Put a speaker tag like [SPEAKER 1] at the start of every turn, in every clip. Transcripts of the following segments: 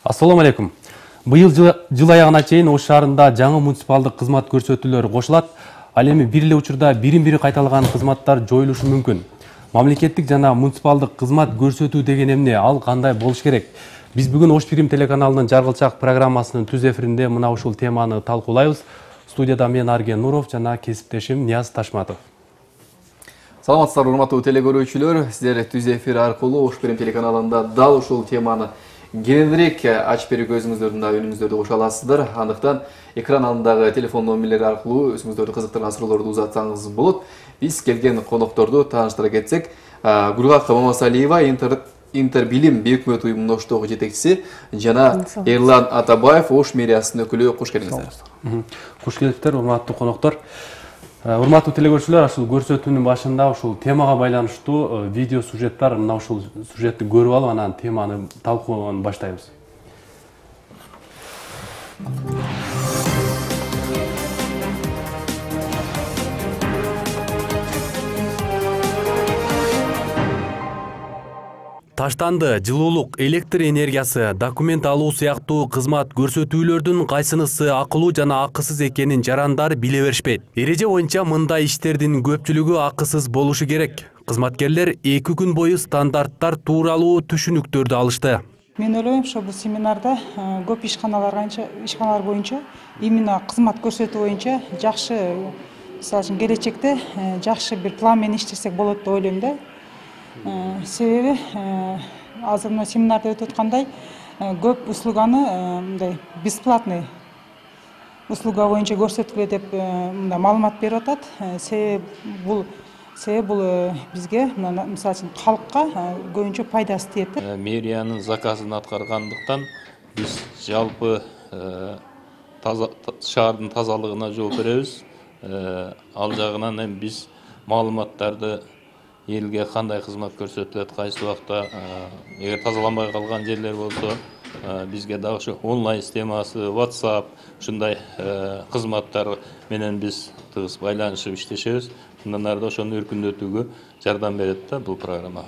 [SPEAKER 1] Assalamu алейкум. Быйыл жыл аягына чейин Ош шаарында жаңы муниципалдык кызмат көрсөтүүлөр кошулат. Ал эми бир эле учурда бирин-бири кайталаган кызматтар жоюлушу мүмкүн. Мамлекеттик жана муниципалдык кызмат көрсөтүү деген эмне, ал кандай болуш керек? Биз бүгүн Ош Прим телеканалынын Жаргылчак программасынын түз эфиринде мына ушул теманы талкуулайбыз. Студияда мен Арген Нуров жана кесиптешим Нияз Ташматов.
[SPEAKER 2] Саламатсыздар, урматтуу телекөрүүчүлөр. Сиздер түз эфир аркылуу Ош Прим телеканалында дал ушул теманы кеңирээк ачып берүүгө өзүңүздөрдүн үнүңүздөрдү кошо аласыздар. Андыктан экран алдындагы телефон номерлери аркылуу өзүңүздөрдү кызыктырган суроолорду узатсаңыз болот. Биз келген конокторду тааныштыра кетсек, Гүлгак Мамасалиева Интербилим Бейөкмөт уюмунун Оштогу жетекчиси жана Эрлан Атабаев Ош мэриясынын өкүлү. Кош келиңиздер.
[SPEAKER 1] Кош келиптер, урматтуу коноктор. Урматтуу телекөрүүчүлөр, ушул көрсөтүүнүн башында ушул темага байланыштуу видео сюжеттер, мына ушул сюжетти көрүп алып, анан теманы талкууну баштайбыз. Таштанды, жылуулук, электр энергиясы, документ алуу сыяктуу кызмат көрсөтүүлөрдүн кайсынысы акылуу жана акысыз экенин жарандар биле беришпейт. Эреже боюнча мындай иштердин көпчүлүгү акысыз болушу керек. Кызматкерлер 2 күн бою стандарттар тууралуу түшүнүктөрдү алышты.
[SPEAKER 3] Мен ойлойм, ошо бул семинарда көп ишканалар боюнча именно кызмат көрсөтүү боюнча жакшы, мисалы үчүн келечекте жакшы бир план менен иштесек болот деп ойлойм да. Себеби азыр мына семинарда өтүп аткандай көп услуганы мындай бесплатный услуга боюнча көрсөткүлө деп мындай маалымат берип атат. Себеби бул бизге мисалы үчүн калкка көбүнчө пайдасы тиет.
[SPEAKER 4] Мэриянын заказын аткаргандыктан биз жалпы шаардын тазалыгына жооп беребиз. Ал жагынан эми биз маалыматтарды элге кандай кызмат көрсөтүлөт, кайсы убакта эгер тазаланбай калган жерлер болсо бизге дагы ушу онлайн системасы, WhatsApp ушундай кызматтар менен биз тыгыз байланышып иштешебиз. Мындан ары да ошону өркүндөтүүгө жардам берет да бул программа.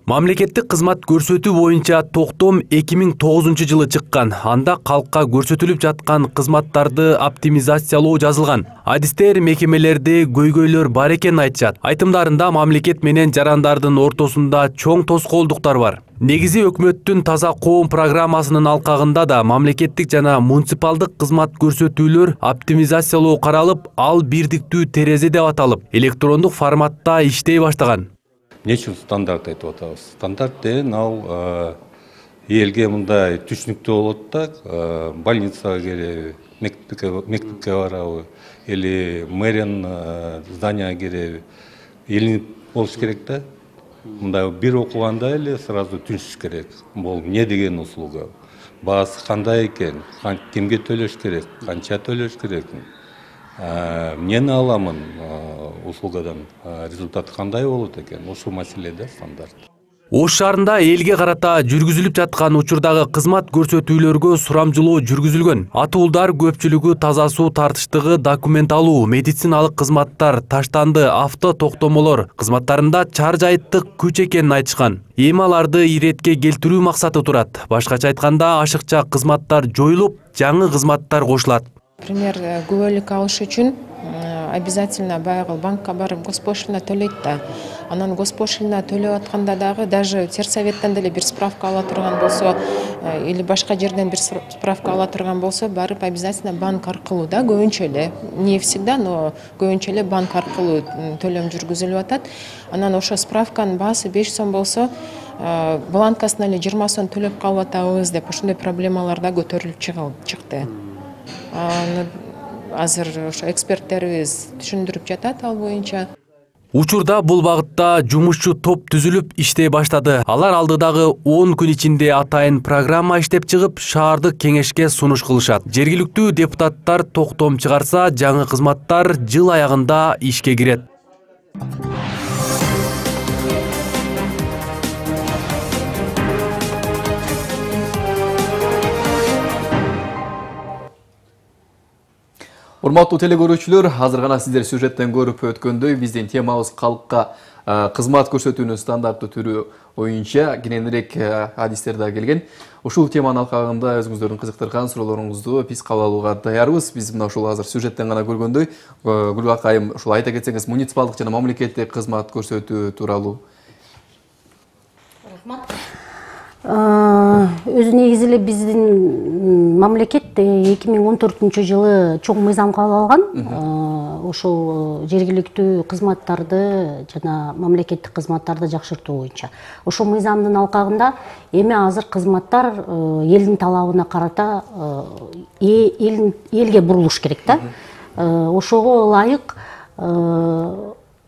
[SPEAKER 1] Мамлекеттик кызмат көрсөтүү боюнча токтом 2009 жылы чыккан. Анда калкка көрсөтүлүп жаткан кызматтарды оптимизациялоо жазылган. Адистер, мекемелерде көйгөйлөр бар экенин айтышат. Айтымдарында мамлекет менен жарандардын ортосунда чоң тоскоолдуктар бар. Негизи өкмөттүн таза коом программасынын алкагында да мамлекеттик жана муниципалдык кызмат көрсөтүүлөр оптимизациялоо каралып, ал бирдиктүү терезе деп аталып, электрондук форматта иштей баштаган.
[SPEAKER 5] Эмне үчүн стандарт айтып атабыз? Стандарт деген ал элге мындай түшүнүктүү болот да, больницага келеби, мектепке барабы, или мэриянын зданияга келеби, элинип болуш керек да. Мындай бир окуганда эле сразу түшүш керек. Бул эмне деген услуга? Баасы кандай экен? Кимге төлөш керек? Канча төлөш керек? Эмнени аламын услугадан, результат кандай болот экен? Ушул маселеде стандарт.
[SPEAKER 1] Ош шаарында элге карата жүргүзүлүп жаткан учурдагы кызмат көрсөтүүлөргө сурамжылоо жүргүзүлгөн. Атуулдар көпчүлүгү таза суу тартыштыгы, документ алуу, медициналык кызматтар, таштанды, авто токтомолор кызматтарында чар жайыттык күч экенин айтышкан. Эми аларды иретке келтирүү максаты турат. Башкача айтканда, ашыкча кызматтар жоюлуп, жаңы кызматтар кошулат.
[SPEAKER 6] Например, күбөлүк алыш үчүн обязательно баягы банкка барып госпошлина төлөйт да. Анан госпошлина төлөп атканда дагы даже терсоветтен деле бир справка ала турган болсо или башка жерден бир справка ала турган болсо, барып обязательно банк аркылуу да, көбүнчө эле, не всегда, но көбүнчө эле банк аркылуу төлөм жүргүзүлүп атат. Анан ошо справканын баасы 5 сом болсо, бланкасына эле 20 сом төлөп калып атабыз деп ошондой проблемалар да көтөрүлүп чыкты. Азыр ошо эксперттерибиз түшүндүрүп жатат ал боюнча.
[SPEAKER 1] Учурда бул багытта жумушчу топ түзүлүп иштей баштады. Алар алдыдагы 10 күн ичинде атайын программа иштеп чыгып, шаардык кеңешке сунуш кылышат. Жергиликтүү депутаттар токтом чыгарса, жаңы кызматтар жыл аягында ишке кирет.
[SPEAKER 2] Урматтуу теле көрүүчүлөр, азыр гана сиздер сюжеттен көрүп өткөндөй биздин темабыз калкка кызмат көрсөтүүнүн стандарттуу түрү боюнча кененирээк адистер да келген. Ушул теманын алкагында өзүңүздөрдүн кызыктырган суроолоруңузду биз кабыл алууга даярбыз. Биз мына ушул азыр сюжеттен гана көргөндөй, Гүлгүл акайым, ушул айта кетсеңиз, муниципалдык жана мамлекеттик кызмат көрсөтүү тууралуу.
[SPEAKER 7] Рахмат. Өзү негизи эле биздин мамлекет 2014-жылы чоң мыйзам кабыл алган. Ошол жергиликтүү кызматтарды жана мамлекеттик кызматтарды жакшыртуу боюнча. Ошол мыйзамдын алкагында эми азыр кызматтар элдин талабына карата элге бурулуш керек да. Ошого ылайык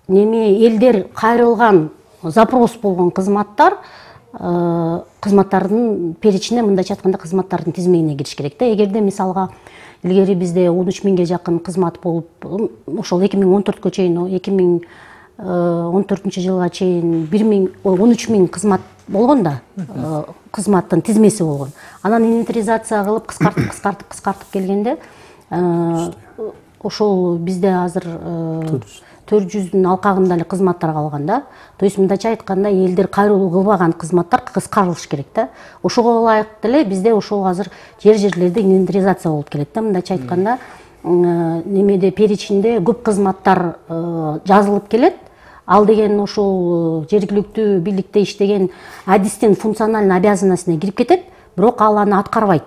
[SPEAKER 7] элдер кайрылган, запрос болгон кызматтардын перечине, мындайча айтканда, кызматтардын тизмегине кириш керек да. Эгерде мисалга илгери бизде 13 миңге жакын кызмат болуп, ошол 2014-кө чейин, 2014-жылга чейин 13 миң кызмат болгон да, кызматтын тизмеси болгон. Анан инвентаризация кылып кыскартып келгенде, ошол бизде азыр 400-дүн алкагында эле кызматтар калган да. То есть мындайча айтканда, элдер кайрылуу кылбаган кызматтар кыскарылыш керек да. Ошого ылайык деле бизде ошол азыр жерлерде инвентаризация болуп келет да. Мындайча айтканда, немеде перечинде көп кызматтар жазылып келет. Ал деген ошол жергиликтүү бийликте иштеген адистин функциональный обязанностуна кирип кетет, бирок ал аны аткарбайт.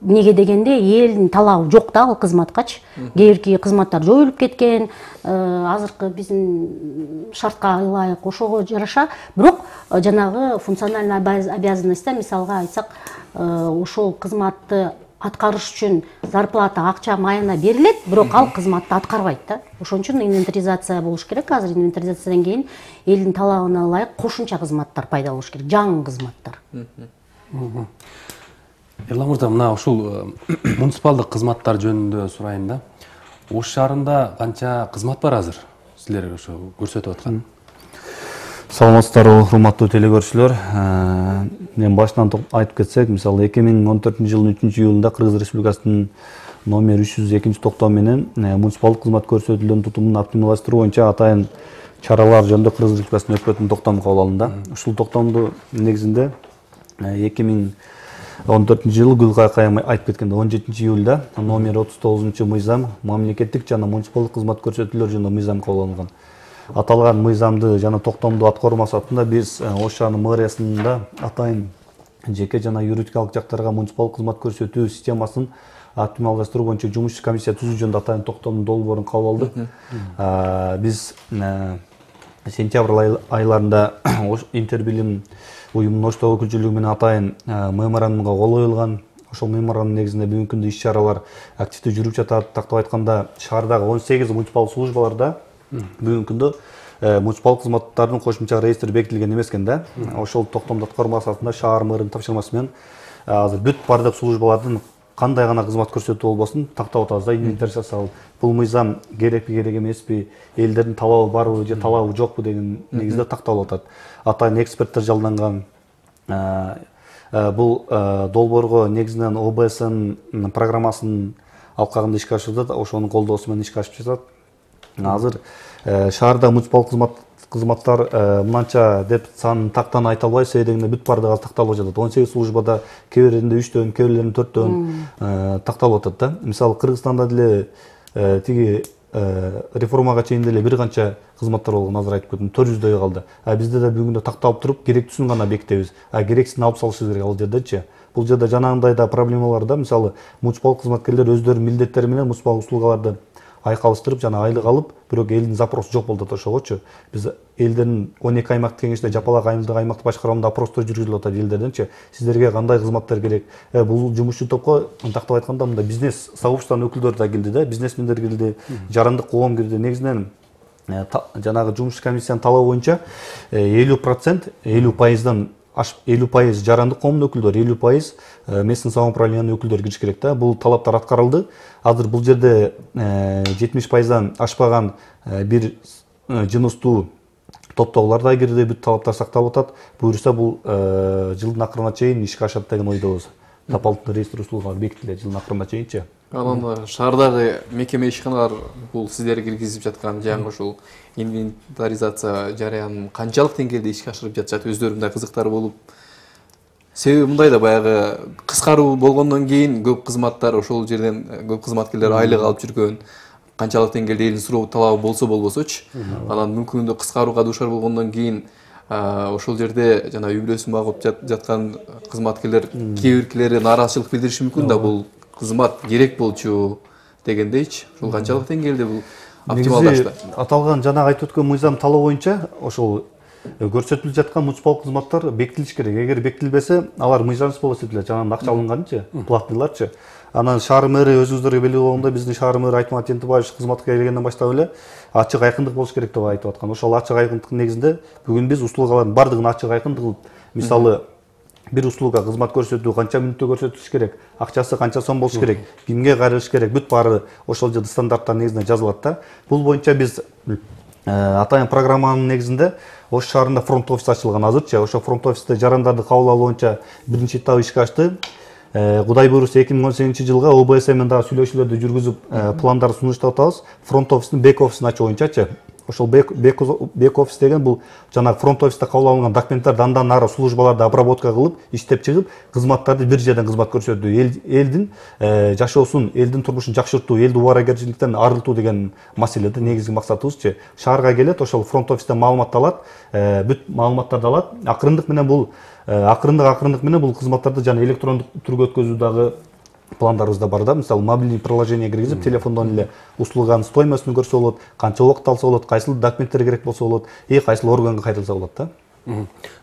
[SPEAKER 7] Неге дегенде, элдин талабы жок да ал кызматкачы. Кээ кызматтар жоюлуп кеткен, азыркы биздин шартка ылайык ошого жараша, бирок жанагы функциональный обязанностьта, мисалга айтсак, ошол кызматты аткарыш үчүн зарплата, акча, майына берилет, бирок ал кызматты аткарбайт да. Ошон үчүн инвентаризация болуш керек. Азыр инвентаризациядан кийин элдин талабына ылайык кошумча кызматтар пайда болуш керек, жаңы кызматтар.
[SPEAKER 1] Эрлан мырза, мына ушул муниципалдык кызматтар жөнүндө сурайын да. Ош шаарында канча кызмат бар азыр силер ошо көрсөтүп аткан?
[SPEAKER 8] Саламатсыздарбы, урматтуу теле көрүүчүлөр. Мен башынан айтып кетсек, мисалы 2014-жылдын 3-июлунда Кыргыз Республикасынын номер 302 токтому менен муниципалдык кызмат көрсөтүүлөрүнүн тутумун оптималдашыруу боюнча атайын чаралар жөнүндө Кыргыз Республикасынын өкмөтүнүн токтому кабыл алынды. Ушул токтомду негизинде 2014-жылы Гүлгүл акайым айтып кеткенде 17-июлда номер 39 мыйзам мамлекеттик жана муниципалдык кызмат көрсөтүүлөр жөнүндө мыйзам кабыл алынган. Аталган мыйзамды жана токтомду аткаруу максатында биз Ош шаарынын мэриясында атайын жеке жана юридикалык жактарга муниципалдык кызмат көрсөтүү системасын оптималдаштыруу боюнча жумушчу комиссия түзүү жөнүндө атайын токтомдун долбоорун кабыл алдык. Биз сентябрь айларында Интербилим уюмунун Оштогу өкүлчүлүгү менен атайын меморандумга кол коюлган. Ошол меморандум негизинде бүгүнкү күндө иш-чаралар активдүү жүрүп жатат. Тактап айтканда, шаардагы 18 муниципалдык службаларда бүгүнкү күндө муниципалдык кызматтардын кошумча реестри бекитилген эмес экен да. Ошол токтомду аткаруу максатында шаар мэринин тапшырмасы менен азыр бүт бардык службалардын кандай гана кызмат көрсөтүү болбосун тактап атабыз да, инвентаризация. Бул мыйзам керекпи, керек эмеспи, элдердин талабы барбы же талабы жокпу деген негизде такталып атат. Атайын эксперттер жалданган. Бул долбоорго негизинен ОБСнын программасынын алкагында ишке ашырылат, ошонун колдоосу менен ишке ашып жатат. Азыр шаарда муниципалдык кызматтар мынанча деп санын тактан айта албайбыз, себеби дегенде бүт бардыгы такталып жатат. 18 службада кээ биринде 3төн, кээ бирлеринде 4төн такталып атат да. Мисалы Кыргызстанда деле тиги реформага чейин деле бир канча кызматтар болгон, азыр айтып кеттим, 400дөй калды. Бизде да бүгүндө такталып туруп, керектүүсүн гана бекитебиз. Керексизин алып салышыбыз керек ал жердечи. Бул жерде жанагындай да проблемалар да. Мисалы муниципалдык кызматкерлер өздөрүнүн милдеттери менен муниципалдык услугаларды айкалыштырып, жана айлык алып, бирок элдин запросу жок болуп атат ошогочу. Биз элдердин 12 аймактык кеңеште жапалак айымдык аймактык башкаруунда опростор жүргүзүлүп атат элдерденчи. Сиздерге кандай кызматтар керек? Бул жумушчу топко тактап айтканда мында бизнес сообществонун өкүлдөрү да келди да, бизнесмендер келди, жарандык коом кирди. Негизинен жанагы жумушчу комиссиянын талабы боюнча 50%, 50% жарандык коомдун өкүлдөрү, 50% местный самоуправлениянын өкүлдөрү кириш керек да. Бул талаптар аткарылды. Азыр бул жерде 70%дан ашпаган бир жыныстуу топтогулар да кирди, бүт талаптар сакталып атат. Буюрса бул жылдын акырына чейин ишке ашат деген ойдобуз. Дополнительный реестр услугалары бекитилет жылдын акырына чейинчи.
[SPEAKER 2] Анан шаардагы мекеме ишканалар бул сиздер киргизип жаткан жаңы ушул инвентаризация жарыянын канчалык деңгээлде ишке ашырып жатышат, өздөрү мындай кызыктар болуп? Себеби мындай да баягы кыскаруу болгондон кийин көп кызматтар ошол жерден көп кызматкерлер айлык алып жүргөн, канчалык деңгээлде элдин суроо талабы болсо болбосочу. Анан мүмкүн кыскарууга дуушар болгондон кийин ошол жерде жана үй бүлөсүн багып жаткан кызматкерлер кээ биркилери нааразычылык билдириши мүмкүн да, бул кызмат керек болчу дегендейчи. Ушул канчалык деңгээлде бул оптималдашты?
[SPEAKER 8] Аталган жана айтып өткөн мыйзам талоо боюнча ошол көрсөтүлүп жаткан муниципалдык кызматтар бекитилиш керек. Эгер бекитилбесе, алар мыйзамсыз болуп эсептелет. Жанагы акча алынганчы, платныйларчы. Анан шаар мэри өзүңүздөргө белгилүү болгондой, биздин шаар мэри Айтмат Ентебаевич кызматка келгенден баштап эле ачык айкындык болуш керек деп айтып аткан. Ошол ачык айкындыктын негизинде бүгүн биз услугалардын бардыгын ачык айкындык кылып, мисалы бир услуга кызмат көрсөтүү канча мүнөттө көрсөтүлүш керек, акчасы канча сом болуш керек, кимге кайрылыш керек, бүт баары ошол жерде стандарттар негизинде жазылат да. Бул боюнча биз атайын программанын негизинде Ош шаарында фронт офис ачылган азырчы. Ошо фронт офисте жарандарды кабыл алуу боюнча биринчи этап ишке ашты. Кудай буйруса 2018-жылга ОБС менен дагы сүйлөшүүлөрдү жүргүзүп пландар сунуштап атабыз. Фронт офистин бек офисин ачуу боюнчачы. Ошол бек офис деген бул жанагы фронт офисте кабыл алынган документтер андан нары службаларды обработка кылып, иштеп чыгып, кызматтарды бир жерден кызмат көрсөтүү, элдин жашоосун, элдин турмушун жакшыртуу, элди убаракерчиликтен арылтуу деген маселеде негизги максатыбызчы. Шаарга келет, ошол фронт офистен маалымат алат, бүт маалыматтарды алат. Акырындык менен бул кызматтарды жана электрондук түргө өткөзүү дагы пландарыбызда бар да. Мисалы мобилдий приложение киргизип, телефондон эле услуганын стоимостун көрсө болот, канча убакыт алса болот, кайсыл документтер керек болсо болот, кайсыл органга кайрылса болот да.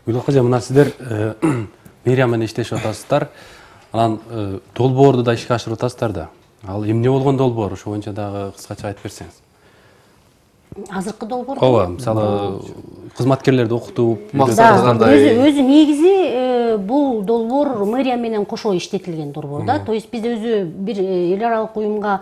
[SPEAKER 1] Гүлок кажа, мына сиздер мэрия менен иштешип атасыздар. Анан долбоорду да ишке ашырып атасыздар да. Ал эмне болгон долбоор? Ошо боюнча дагы кыскача айтып берсеңиз.
[SPEAKER 7] Азыркы долбоор?
[SPEAKER 1] Ооба, мисалы кызматкерлерди окутуп,
[SPEAKER 7] өзү негизи бул долбоор мэрия менен кошо иштетилген долбоор да. То есть биз өзү бир эл аралык уюмга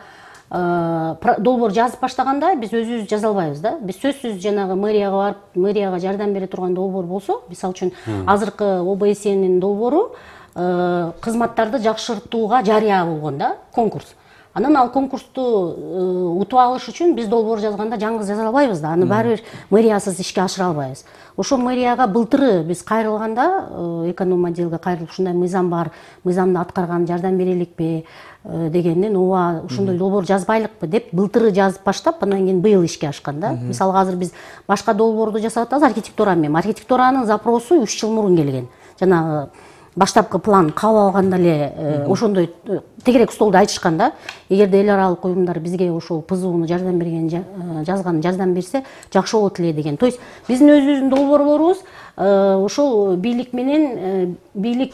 [SPEAKER 7] долбоор жазып баштаганда биз өзүбүз жаза албайбыз да. Биз сөзсүз жанагы мэрияга барып, мэрияга жардам бере турган долбоор болсо, мисалы үчүн азыркы ОБСнин долбоору кызматтарды жакшыртууга жарыя болгон да, конкурс. Анан ал конкурсту утуп алыш үчүн биз долбоор жазганда жаңы жаза албайбыз да. Аны баары бир мэриясыз ишке ашыра албайбыз. Ошо мэрияга былтыры биз кайрылганда, эконом отделге кайрылып, ушундай мыйзам бар, мыйзамды аткарган жардам береликпи дегенден, ооба ушундай долбоор жазбайлыкпы деп былтыры жазып баштап, андан кийин быйыл ишке ашкан да. Мисалы азыр биз башка долбоорду жасап атабыз архитектура менен. Архитектуранын запросу 3 жыл мурун келген. Жанагы баштапкы план кабыл алганда эле ошондой тегерек столдо айтышкан да. Эгерде эл аралык уюмдар бизге ошол ПЗУну жардам берген жазган жардам берсе жакшы болот эле деген. То есть биздин өзүбүздүн долбоорлорубуз ошол бийлик менен бийлик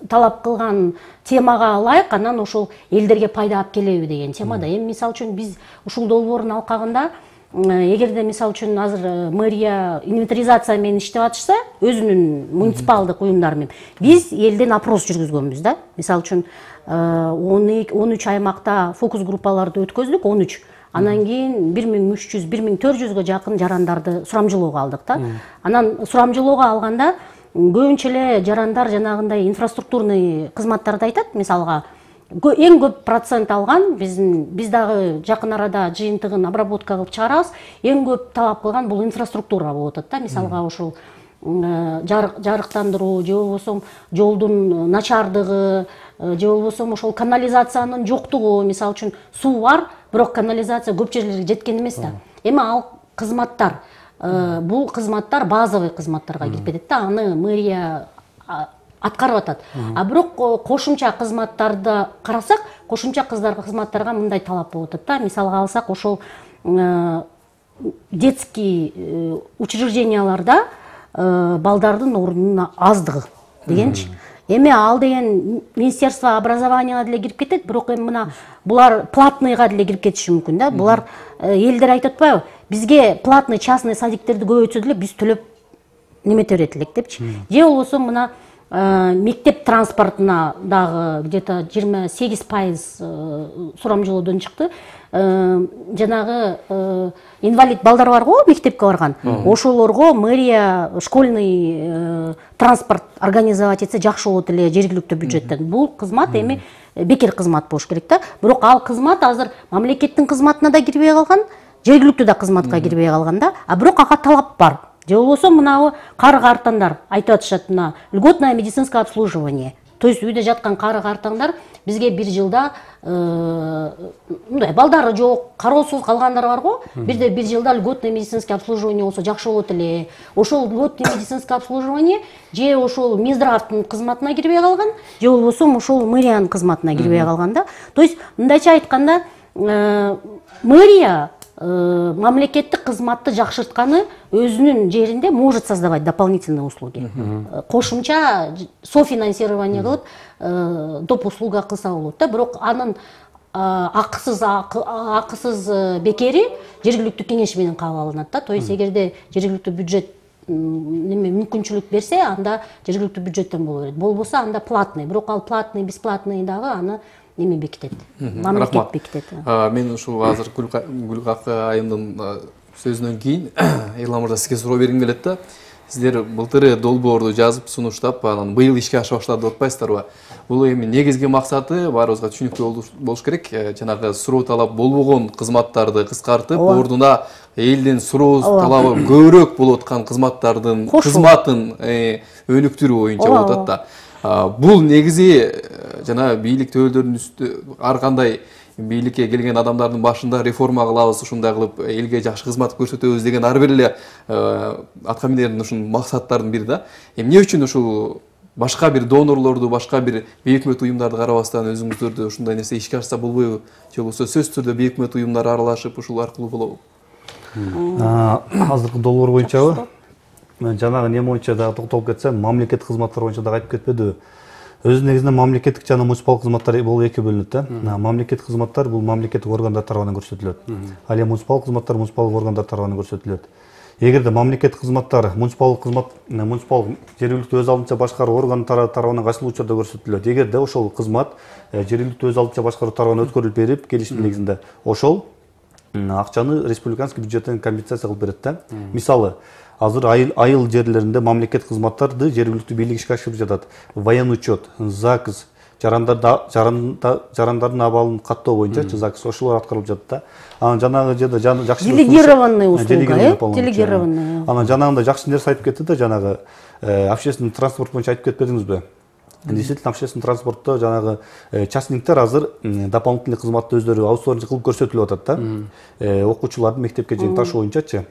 [SPEAKER 7] талап кылган темага ылайык, анан ошол элдерге пайда алып келеби деген темада. Эми мисалы үчүн биз ушул долбоордун алкагында эгерде мисалы үчүн азыр мэрия инвентаризация менен иштеп атышса, өзүнүн муниципалдык уюмдары менен биз элден опрос жүргүзгөнбүз да. Мисалы үчүн 13 аймакта фокус группаларды өткөздүк, 13. Анан кийин 1300-1400гө жакын жарандарды сурамжылоого алдык да. Анан сурамжылоого алганда көбүнчө эле жарандар жанагындай инфраструктурный кызматтарды айтат. Мисалга эң көп процент алган биз дагы жакын арада жыйынтыгын обработка кылып чыгарабыз. Эң көп талап кылган бул инфраструктура болуп атат да. Мисалга ошол жарыктандыруу же болбосо жолдун начардыгы же болбосо ошол канализациянын жоктугу. Мисалы үчүн суу бар, бирок канализация көп жерлерге жеткен эмес да. Эми ал кызматтар, бул кызматтар базовый кызматтарга кирип кетет да. Аны мэрия аткарып атат. А бирок кошумча кызматтарды карасак, кошумча кызматтарга мындай талап болуп атат да. Мисалга алсак, ошол детский учрежденияларда балдардын орнунун аздыгы дегенчи. Эми ал деген Министерство образованияга деле кирип кетет, бирок эми мына булар платныйга деле кирип кетиши мүмкүн да. Булар элдер айтып атпайбы? Бизге платный частный садиктерди көбөйтсө деле биз төлөп немете берет элек депчи. Же болбосо мына мектеп транспортуна дагы где-то 28% сурамжылоодон чыкты. Жанагы инвалид балдар бар го, мектепке барган. Ошолорго мэрия школьный транспорт организовать этсе жакшы болот эле жергиликтүү бюджеттен. Бул кызмат эми бекер кызмат болуш керек да. Бирок ал кызмат азыр мамлекеттин кызматына да кирбей калган, жергиликтүү да кызматка кирбей калган да. А бирок ага талап бар. Же болбосо мынабы кары-картаңдар айтып атышат, мына льготное медицинское обслуживание. То есть үйдө жаткан кары-картаңдар бизге бир жылда мындай балдары жок, кароосуз калгандар бар го. Бирде бир жылда льготное медицинское обслуживание болсо жакшы болот эле. Ошол льготное медицинское обслуживание же ошол Минздравдын кызматына кирбей калган, же болбосо ошол мэриянын кызматына кирбей калган да. То есть мындайча айтканда мэрия мамлекеттик кызматты жакшыртканы өзүнүн жеринде может создавать дополнительные услуги. Кошумча софинансирование кылып доп услуга кылса болот да. Бирок анын акысыз бекери жергиликтүү кеңеш менен кабыл алынат да. То есть эгерде жергиликтүү бюджет мүмкүнчүлүк берсе, анда жергиликтүү бюджеттен боло берет. Болбосо анда платный. Бирок ал платный, бесплатный дагы аны неме бекитет, мамлекет бекитет.
[SPEAKER 2] Мен ушул азыр Гүлгак айымдын сөзүнөн кийин Эрлан мырза сизге суроо бергим келет да. Сиздер былтыры долбоорду жазып сунуштап, анан быйыл ишке аша баштады деп атпайсыздарбы? Бул эми негизги максаты баарыбызга түшүнүктүү болуш керек. Жанагы суроо талап болбогон кызматтарды кыскартып, ордуна элдин суроо талабы көбүрөөк болуп аткан кызматтардын кызматын өнүктүрүү боюнча болуп атат да. Бул негизи жана бийлик төбөлдөрүнүн үстү ар кандай бийликке келген адамдардын башында реформа кылабыз, ушундай кылып элге жакшы кызмат көрсөтөбүз деген ар бир эле атка минердин ушул максаттардын бири да. Эмне үчүн ушул башка бир донорлорду, башка бир бейөкмөт уюмдарды карабастан өзүңүздөрдү ушундай нерсе ишке ашса болбойбу? Же болбосо сөзсүз түрдө бейөкмөт уюмдар аралашып ушул аркылуу болобу?
[SPEAKER 8] Азыркы долбоор боюнчабы? Жанагы не боюнча дагы токтолуп кетсем, мамлекеттик кызматтар боюнча дагы айтып кетпедиби? Өзү негизинен мамлекеттик жана муниципалдык кызматтар болуп эки бөлүнөт да. Мамлекеттик кызматтар бул мамлекеттик органдар тарабынан көрсөтүлөт. Ал эми муниципалдык кызматтар муниципалдык органдар тарабынан көрсөтүлөт. Эгерде мамлекеттик кызматтар муниципалдык жергиликтүү өз алдынча башкаруу орган тарабынан кайсыл учурда көрсөтүлөт. Эгерде ошол кызмат жергиликтүү өз алдынча башкаруу тарабынан өткөрүлүп берип, келишим негизинде ошол акчаны республиканский бюджеттен компенсация кылып берет да. Мисалы, азыр айыл жерлеринде мамлекеттик кызматтарды жергиликтүү бийлик ишке ашырып жатат. Военный учет, ЗАГС, жарандардын абалын каттоо боюнча ЗАГС ошолор аткарылып жатат да. Анан жанагы жерде жакшы
[SPEAKER 7] делегированный услуга, делегированный.
[SPEAKER 8] Анан жанагында жакшы нерсе айтып кетти да, жанагы общественный транспорт боюнча айтып кетпедиңизби? Действительно, общественный транспортто жанагы частниктер азыр дополнительный кызматты өздөрү аутсорсинг кылып көрсөтүлүп атат да. Окуучуларды мектепке чейин ташуу боюнчачы.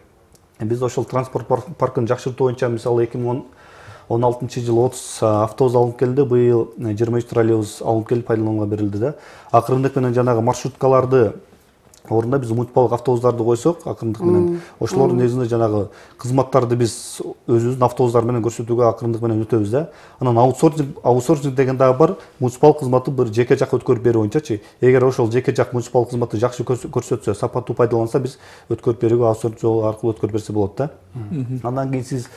[SPEAKER 8] Биз ошол транспорт паркын жакшыртуу боюнча мисалы 2016-жылы 30 автобус алынып келди, быйыл 23 троллейбус алынып келип пайдаланууга берилди да. Акырындык менен жанагы маршруткаларды ордуна биз муниципалдык автобустарды койсок, акырындык менен ошолордун негизинде жанагы кызматтарды биз өзүбүздүн автобустар менен көрсөтүүгө акырындык менен өтөбүз да. Анан аутсорсинг деген дагы бар, муниципалдык кызматты бир жеке жак өткөрүп берүү боюнчачы. Эгер ошол жеке жак муниципалдык кызматты жакшы көрсөтсө, сапаттуу пайдаланса, биз өткөрүп берүүгө аутсорсинг жолу аркылуу өткөрүп берсе болот да. Андан кийин сиз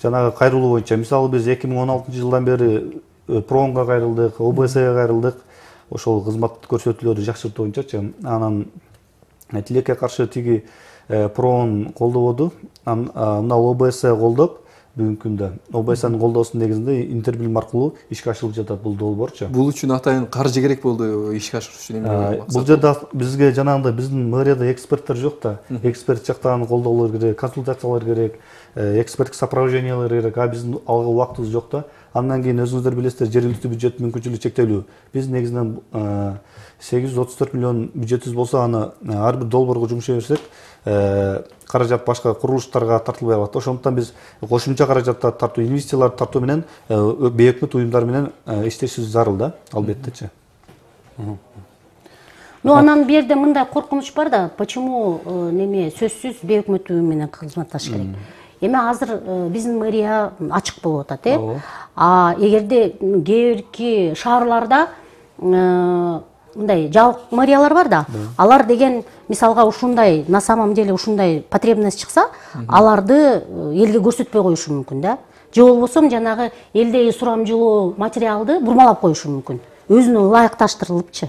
[SPEAKER 8] жанагы кайрылуу боюнча, мисалы биз 2016-жылдан бери Проонго кайрылдык, ОБСга кайрылдык, ошол кызмат көрсөтүүлөрдү жакшыртуу боюнчачы. Анан тилекке каршы тиги Проон колдободу, мына ОБС колдоп, бүгүнкү күндө ОБСнын колдоосунун негизинде интербилим аркылуу ишке ашырылып жатат бул долбоорчу.
[SPEAKER 2] Бул үчүн атайын каржы керек болду ишке ашыруу үчүн эмне?
[SPEAKER 8] Бул жерде бизге жанагындай биздин мэрияда эксперттер жок да. Эксперт жактан колдоолор керек, консультациялар керек, эксперттик сопровождениялар керек. А биздин алга убактыбыз жок да. Андан кийин өзүңүздөр билесиздер, жергиликтүү бюджеттин мүмкүнчүлүгү чектелүү. Биз негизинен 834 миллион бюджетибиз болсо, аны ар бир долбоорго жумшай берсек, каражат башка курулуштарга тартылбай калат. Ошондуктан биз кошумча каражаттарды тартуу, инвестицияларды тартуу менен бейөкмөт уюмдар менен иштешибиз зарыл да, албеттечи.
[SPEAKER 7] Анан бул жерде мындай коркунуч бар да, почему сөзсүз бейөкмөт уюм менен кызматташ керек. Эми азыр биздин мэрия ачык болуп атат, эгерде кээ бирки шаарларда мындай жалык мэриялар бар да, алар деген мисалга ушундай на самом деле ушундай потребность чыкса, аларды элге көрсөтпөй коюшу мүмкүн да. Же болбосо жанагы элдеги сурамжылоо материалды бурмалап коюшу мүмкүн. Өзүнө ылайыкташтырылыпчы.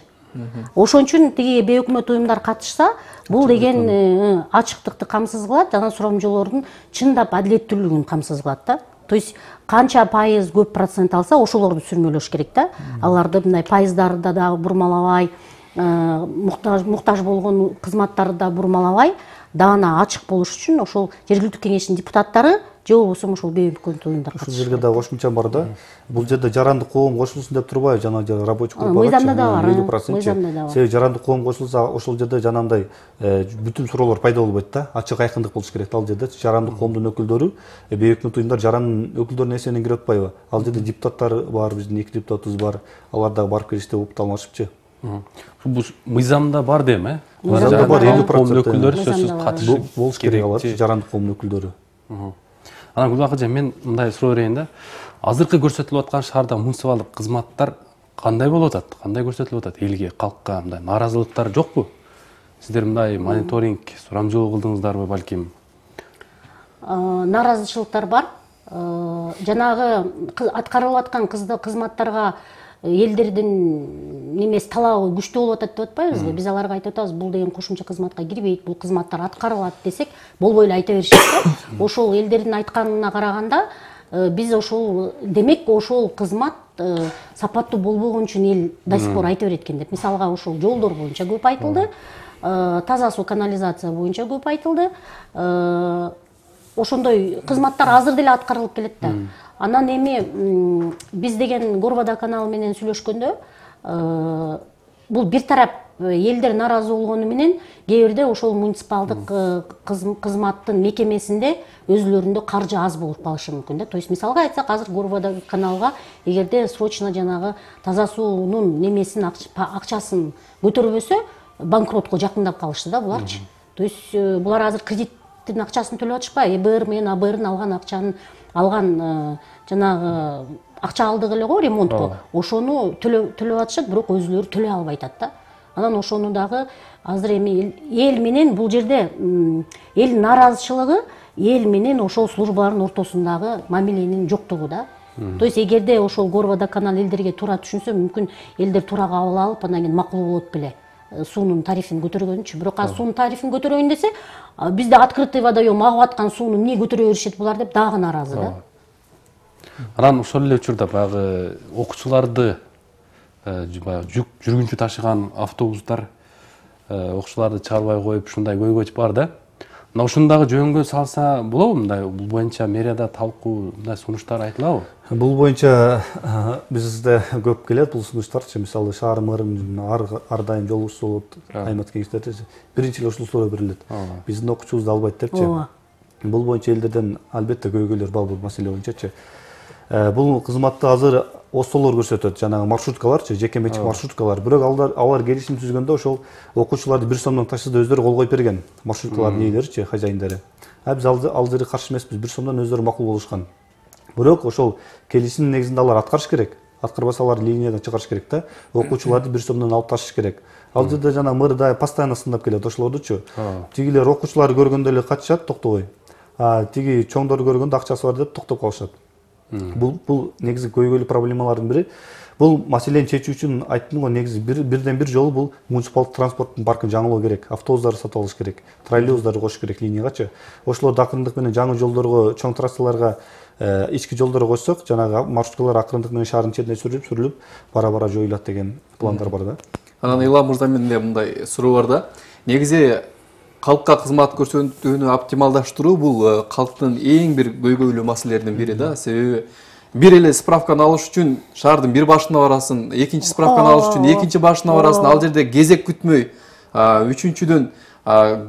[SPEAKER 7] Ошон үчүн тиги бейөкмөт уюмдар катышса, бул деген ачыктыкты камсыз кылат, жана сурамжылоордун чындап адилеттүүлүгүн камсыз кылат да. То есть канча пайыз көп процент алса, ошолорду сүрмөлөш керек да. Аларды мындай пайыздарды да бурмалабай, муктаж болгон кызматтарды да бурмалабай, даана ачык болуш үчүн ошол жергиликтүү кеңештин депутаттары же болбосо ошол бейөкмөт уюмдар катышат.
[SPEAKER 8] Ушул жерге да кошумчам бар да. Бул жерде жарандык коом кошулсун деп турбайбы, жана рабочий группа
[SPEAKER 7] мыйзамда да бар.
[SPEAKER 8] 50%. Себеби жарандык коом кошулса, ошол жерде жанагындай бүтүн суроолор пайда болбойт да. Ачык айкындык болуш керек. Ал жерде жарандык коомдун өкүлдөрү, бейөкмөт уюмдар жарандын өкүлдөрүнүн эсебинен кирип атпайбы? Ал жерде депутаттар бар, биздин 2 депутатыбыз бар. Алар дагы барып келишти, укталмашыпчы.
[SPEAKER 1] Бул мыйзамда бар дейм,
[SPEAKER 8] Мыйзамда бар 50%
[SPEAKER 1] өкүлдөрү сөзсүз катышып
[SPEAKER 8] болуш керек алар, жарандык коомдун өкүлдөрү.
[SPEAKER 1] Анан Гүлбак эже, мен мындай суроо берейин да. Азыркы көрсөтүлүп аткан шаарда муниципалдык кызматтар кандай болуп атат? Кандай көрсөтүлүп атат элге, калкка мындай нааразылыктар жокпу? Сиздер мындай мониторинг, сурамжылоо кылдыңыздарбы балким?
[SPEAKER 7] Нааразычылыктар бар. Жанагы аткарылып аткан кызматтарга элдердин немеси талабы күчтүү болуп атат деп атпайбызбы? Биз аларга айтып атабыз, бул деген кошумча кызматка кирбейт, бул кызматтар аткарылат десек, болбой эле айта беришет да. Ошол элдердин айтканына караганда, биз ошол демек ошол кызмат сапаттуу болбогон үчүн эл до сих пор айта берет экен деп. Мисалга ошол жолдор боюнча көп айтылды, таза суу канализация боюнча көп айтылды. Ошондой кызматтар азыр деле аткарылып келет да. Анан эми биз деген Горвода каналы менен сүйлөшкөндө, бул бир тарап элдер нааразы болгону менен кээ бирде ошол муниципалдык кызматтын мекемесинде өзүлөрүндө каржы аз болуп калышы мүмкүн да. То есть мисалга айтсак, азыр Горвода каналга эгерде срочно жанагы таза суунун немесин акчасын көтөрбөсө, банкротко жакындап калышты да буларчы. То есть булар азыр кредиттин акчасын төлөп атышпайбы? ЭБР менен АБРдын алган акчаны алган жанагы акча алдык эле го ремонтко. Ошону төлөп атышат, бирок өзүлөрү төлөй албай атат да. Анан ошону дагы азыр эми эл менен бул жерде эл нааразычылыгы эл менен ошол службалардын ортосундагы мамиленин жоктугу да. То есть эгерде ошол Горвода канал элдерге туура түшүнсө, мүмкүн элдер туура кабыл алып, анан кийин макул болот беле суунун тарифин көтөргөнүчү. Бирок суунун тарифин көтөрөйүн десе, бизде открытый водоем агып аткан сууну эмне көтөрө беришет булар деп дагы нааразы да.
[SPEAKER 1] Анан ошол эле учурда баягы окуучуларды жүргүнчү ташыган автобустар окуучуларды чыгарбай коюп ушундай көйгөй бар да. Мына ушундагы жөнгө салса болобу? Мындай бул боюнча мэрияда талкуу, мындай сунуштар айтылабы?
[SPEAKER 8] Бул боюнча бизде көп келет бул сунуштарчы. Мисалы шаар мэринин ар дайым жолугчусу болот, аймак кеңештерде биринчи эле ушул суроо берилет. Биздин окуучубузду албайт депчи. Бул боюнча элдерден албетте көйгөйлөр бар бул маселе боюнчачы. Бул кызматты азыр остолор көрсөтөт, жанагы маршруткаларчы, жеке менчик маршруткалар. Бирок алар келишим түзгөндө ошол окуучуларды 1 сомдон ташсызда өздөрү кол коюп берген. Маршруткалардын ээлеричи, хозяиндери. Биз ал жерге каршы эмеспиз, 1 сомдон өздөрү макул болушкан. Бирок ошол келишимдин негизинде алар аткарыш керек. Аткарбаса алар линиядан чыгарыш керек да. Окуучуларды 1 сомдон алып ташыш керек. Ал жерде жана мэр да постоянно сындап келет ошолордучу. Тигилер окуучуларды көргөндө эле качышат, токтобой. Тиги чоңдорду көргөндө акчасы бар деп токтоп калышат. Бул негизи көйгөйлүү проблемалардын бири. Бул маселени чечүү үчүн айттым го, негизи бирден бир жолу бул муниципалдык транспорттун паркын жаңылоо керек. Автобустарды сатып алыш керек, троллейбустарды коюш керек линиягачы. Ошолорду акырындык менен жаңы жолдорго, чоң трассаларга, ички жолдорго койсок, жанагы маршруткалар акырындык менен шаардын четине сүрүлүп, бара-бара жоюлат деген пландар бар да.
[SPEAKER 2] Анан Илам мырза менде мындай суроо бар да. Негизи калкка кызмат көрсөтүүнү оптималдаштыруу бул калктын эң бир көйгөйлүү маселелеринин бири да. Себеби бир эле справканы алыш үчүн шаардын бир башына барасың, экинчи справканы алыш үчүн экинчи башына барасың, ал жерде кезек күтмөй, үчүнчүдөн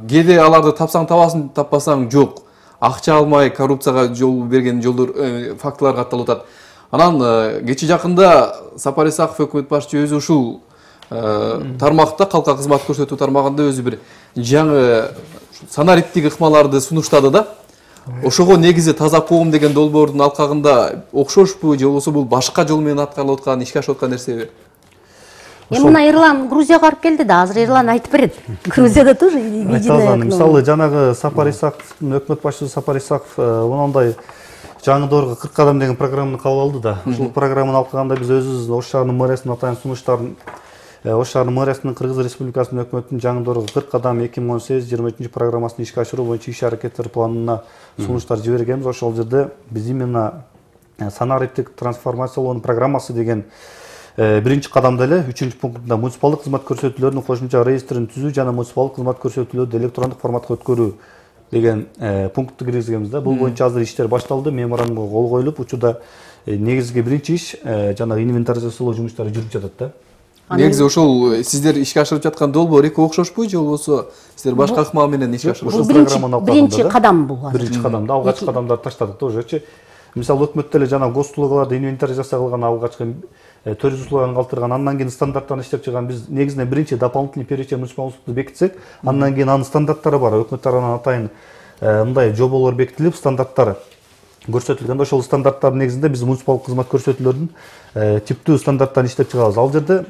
[SPEAKER 2] кээде аларды тапсаң табасың, таппасаң жок. Акча алмай коррупцияга жол берген жолдор фактылар катталып атат. Анан кечээ жакында Сапар Исаков өкмөт башчы өзү ушул тармакта, калкка кызмат көрсөтүү тармагында өзү бир жаңы санариптик ыкмаларды сунуштады да. Ошого негизи таза коом деген долбоордун алкагында окшошпу же болбосо бул башка жол менен аткарылып аткан, ишке ашып аткан нерсеби?
[SPEAKER 7] Эми мына Эрлан Грузияга барып келди да, азыр Эрлан айтып берет. Грузияда тоже видео.
[SPEAKER 8] Мисалы жанагы Сапар Исаковдун өкмөт башчысы Сапар Исаков мындай жаңы доорго 40 кадам деген программаны кабыл алды да. Ушул программаны алганда биз өзүбүз Ош шаарынын мэриясына атайын сунуштарын Ош шаарынын мэриясынын Кыргыз Республикасынын өкмөтүнүн жаңы доорго 40 кадам 2018-23 программасын ишке ашыруу боюнча иш-аракеттер планына сунуштар жибергенбиз. Ошол жерде биз именно санариптик трансформациялоонун программасы деген биринчи кадамда эле 3 пунктунда муниципалдык кызмат көрсөтүүлөрүнүн кошумча реестрин түзүү жана муниципалдык кызмат көрсөтүүлөрдү электрондук форматка өткөрүү деген пунктты киргизгенбиз да. Бул боюнча азыр иштер башталды, меморандумга кол коюлуп, учурда негизги биринчи иш жана инвентаризациялоо жумуштары жүрүп жатат да.
[SPEAKER 2] Негизи ошол сиздер ишке ашырып жаткан долбоор эки окшошпу же болбосо сиздер башка ыкмал менен ишке ашырып
[SPEAKER 7] жатасызбы? Биринчи кадам бул.
[SPEAKER 8] Биринчи кадамда алгачкы кадамдарды таштадык да уже. Мисалы өкмөттө эле жана гос услугаларды инвентаризация кылган алгачкы төрүз услуганы калтырган, андан кийин стандарттарын иштеп чыган. Биз негизинен биринчи дополнительный перечень муниципалдык услугду бекитсек, андан кийин анын стандарттары бар. Өкмөт тарабынан атайын мындай жоболор бекитилип, стандарттары көрсөтүлгөндө ошол стандарттардын негизинде биз муниципалдык кызмат көрсөтүүлөрдүн типтүү стандарттарын иштеп чыгабыз. Ал жерде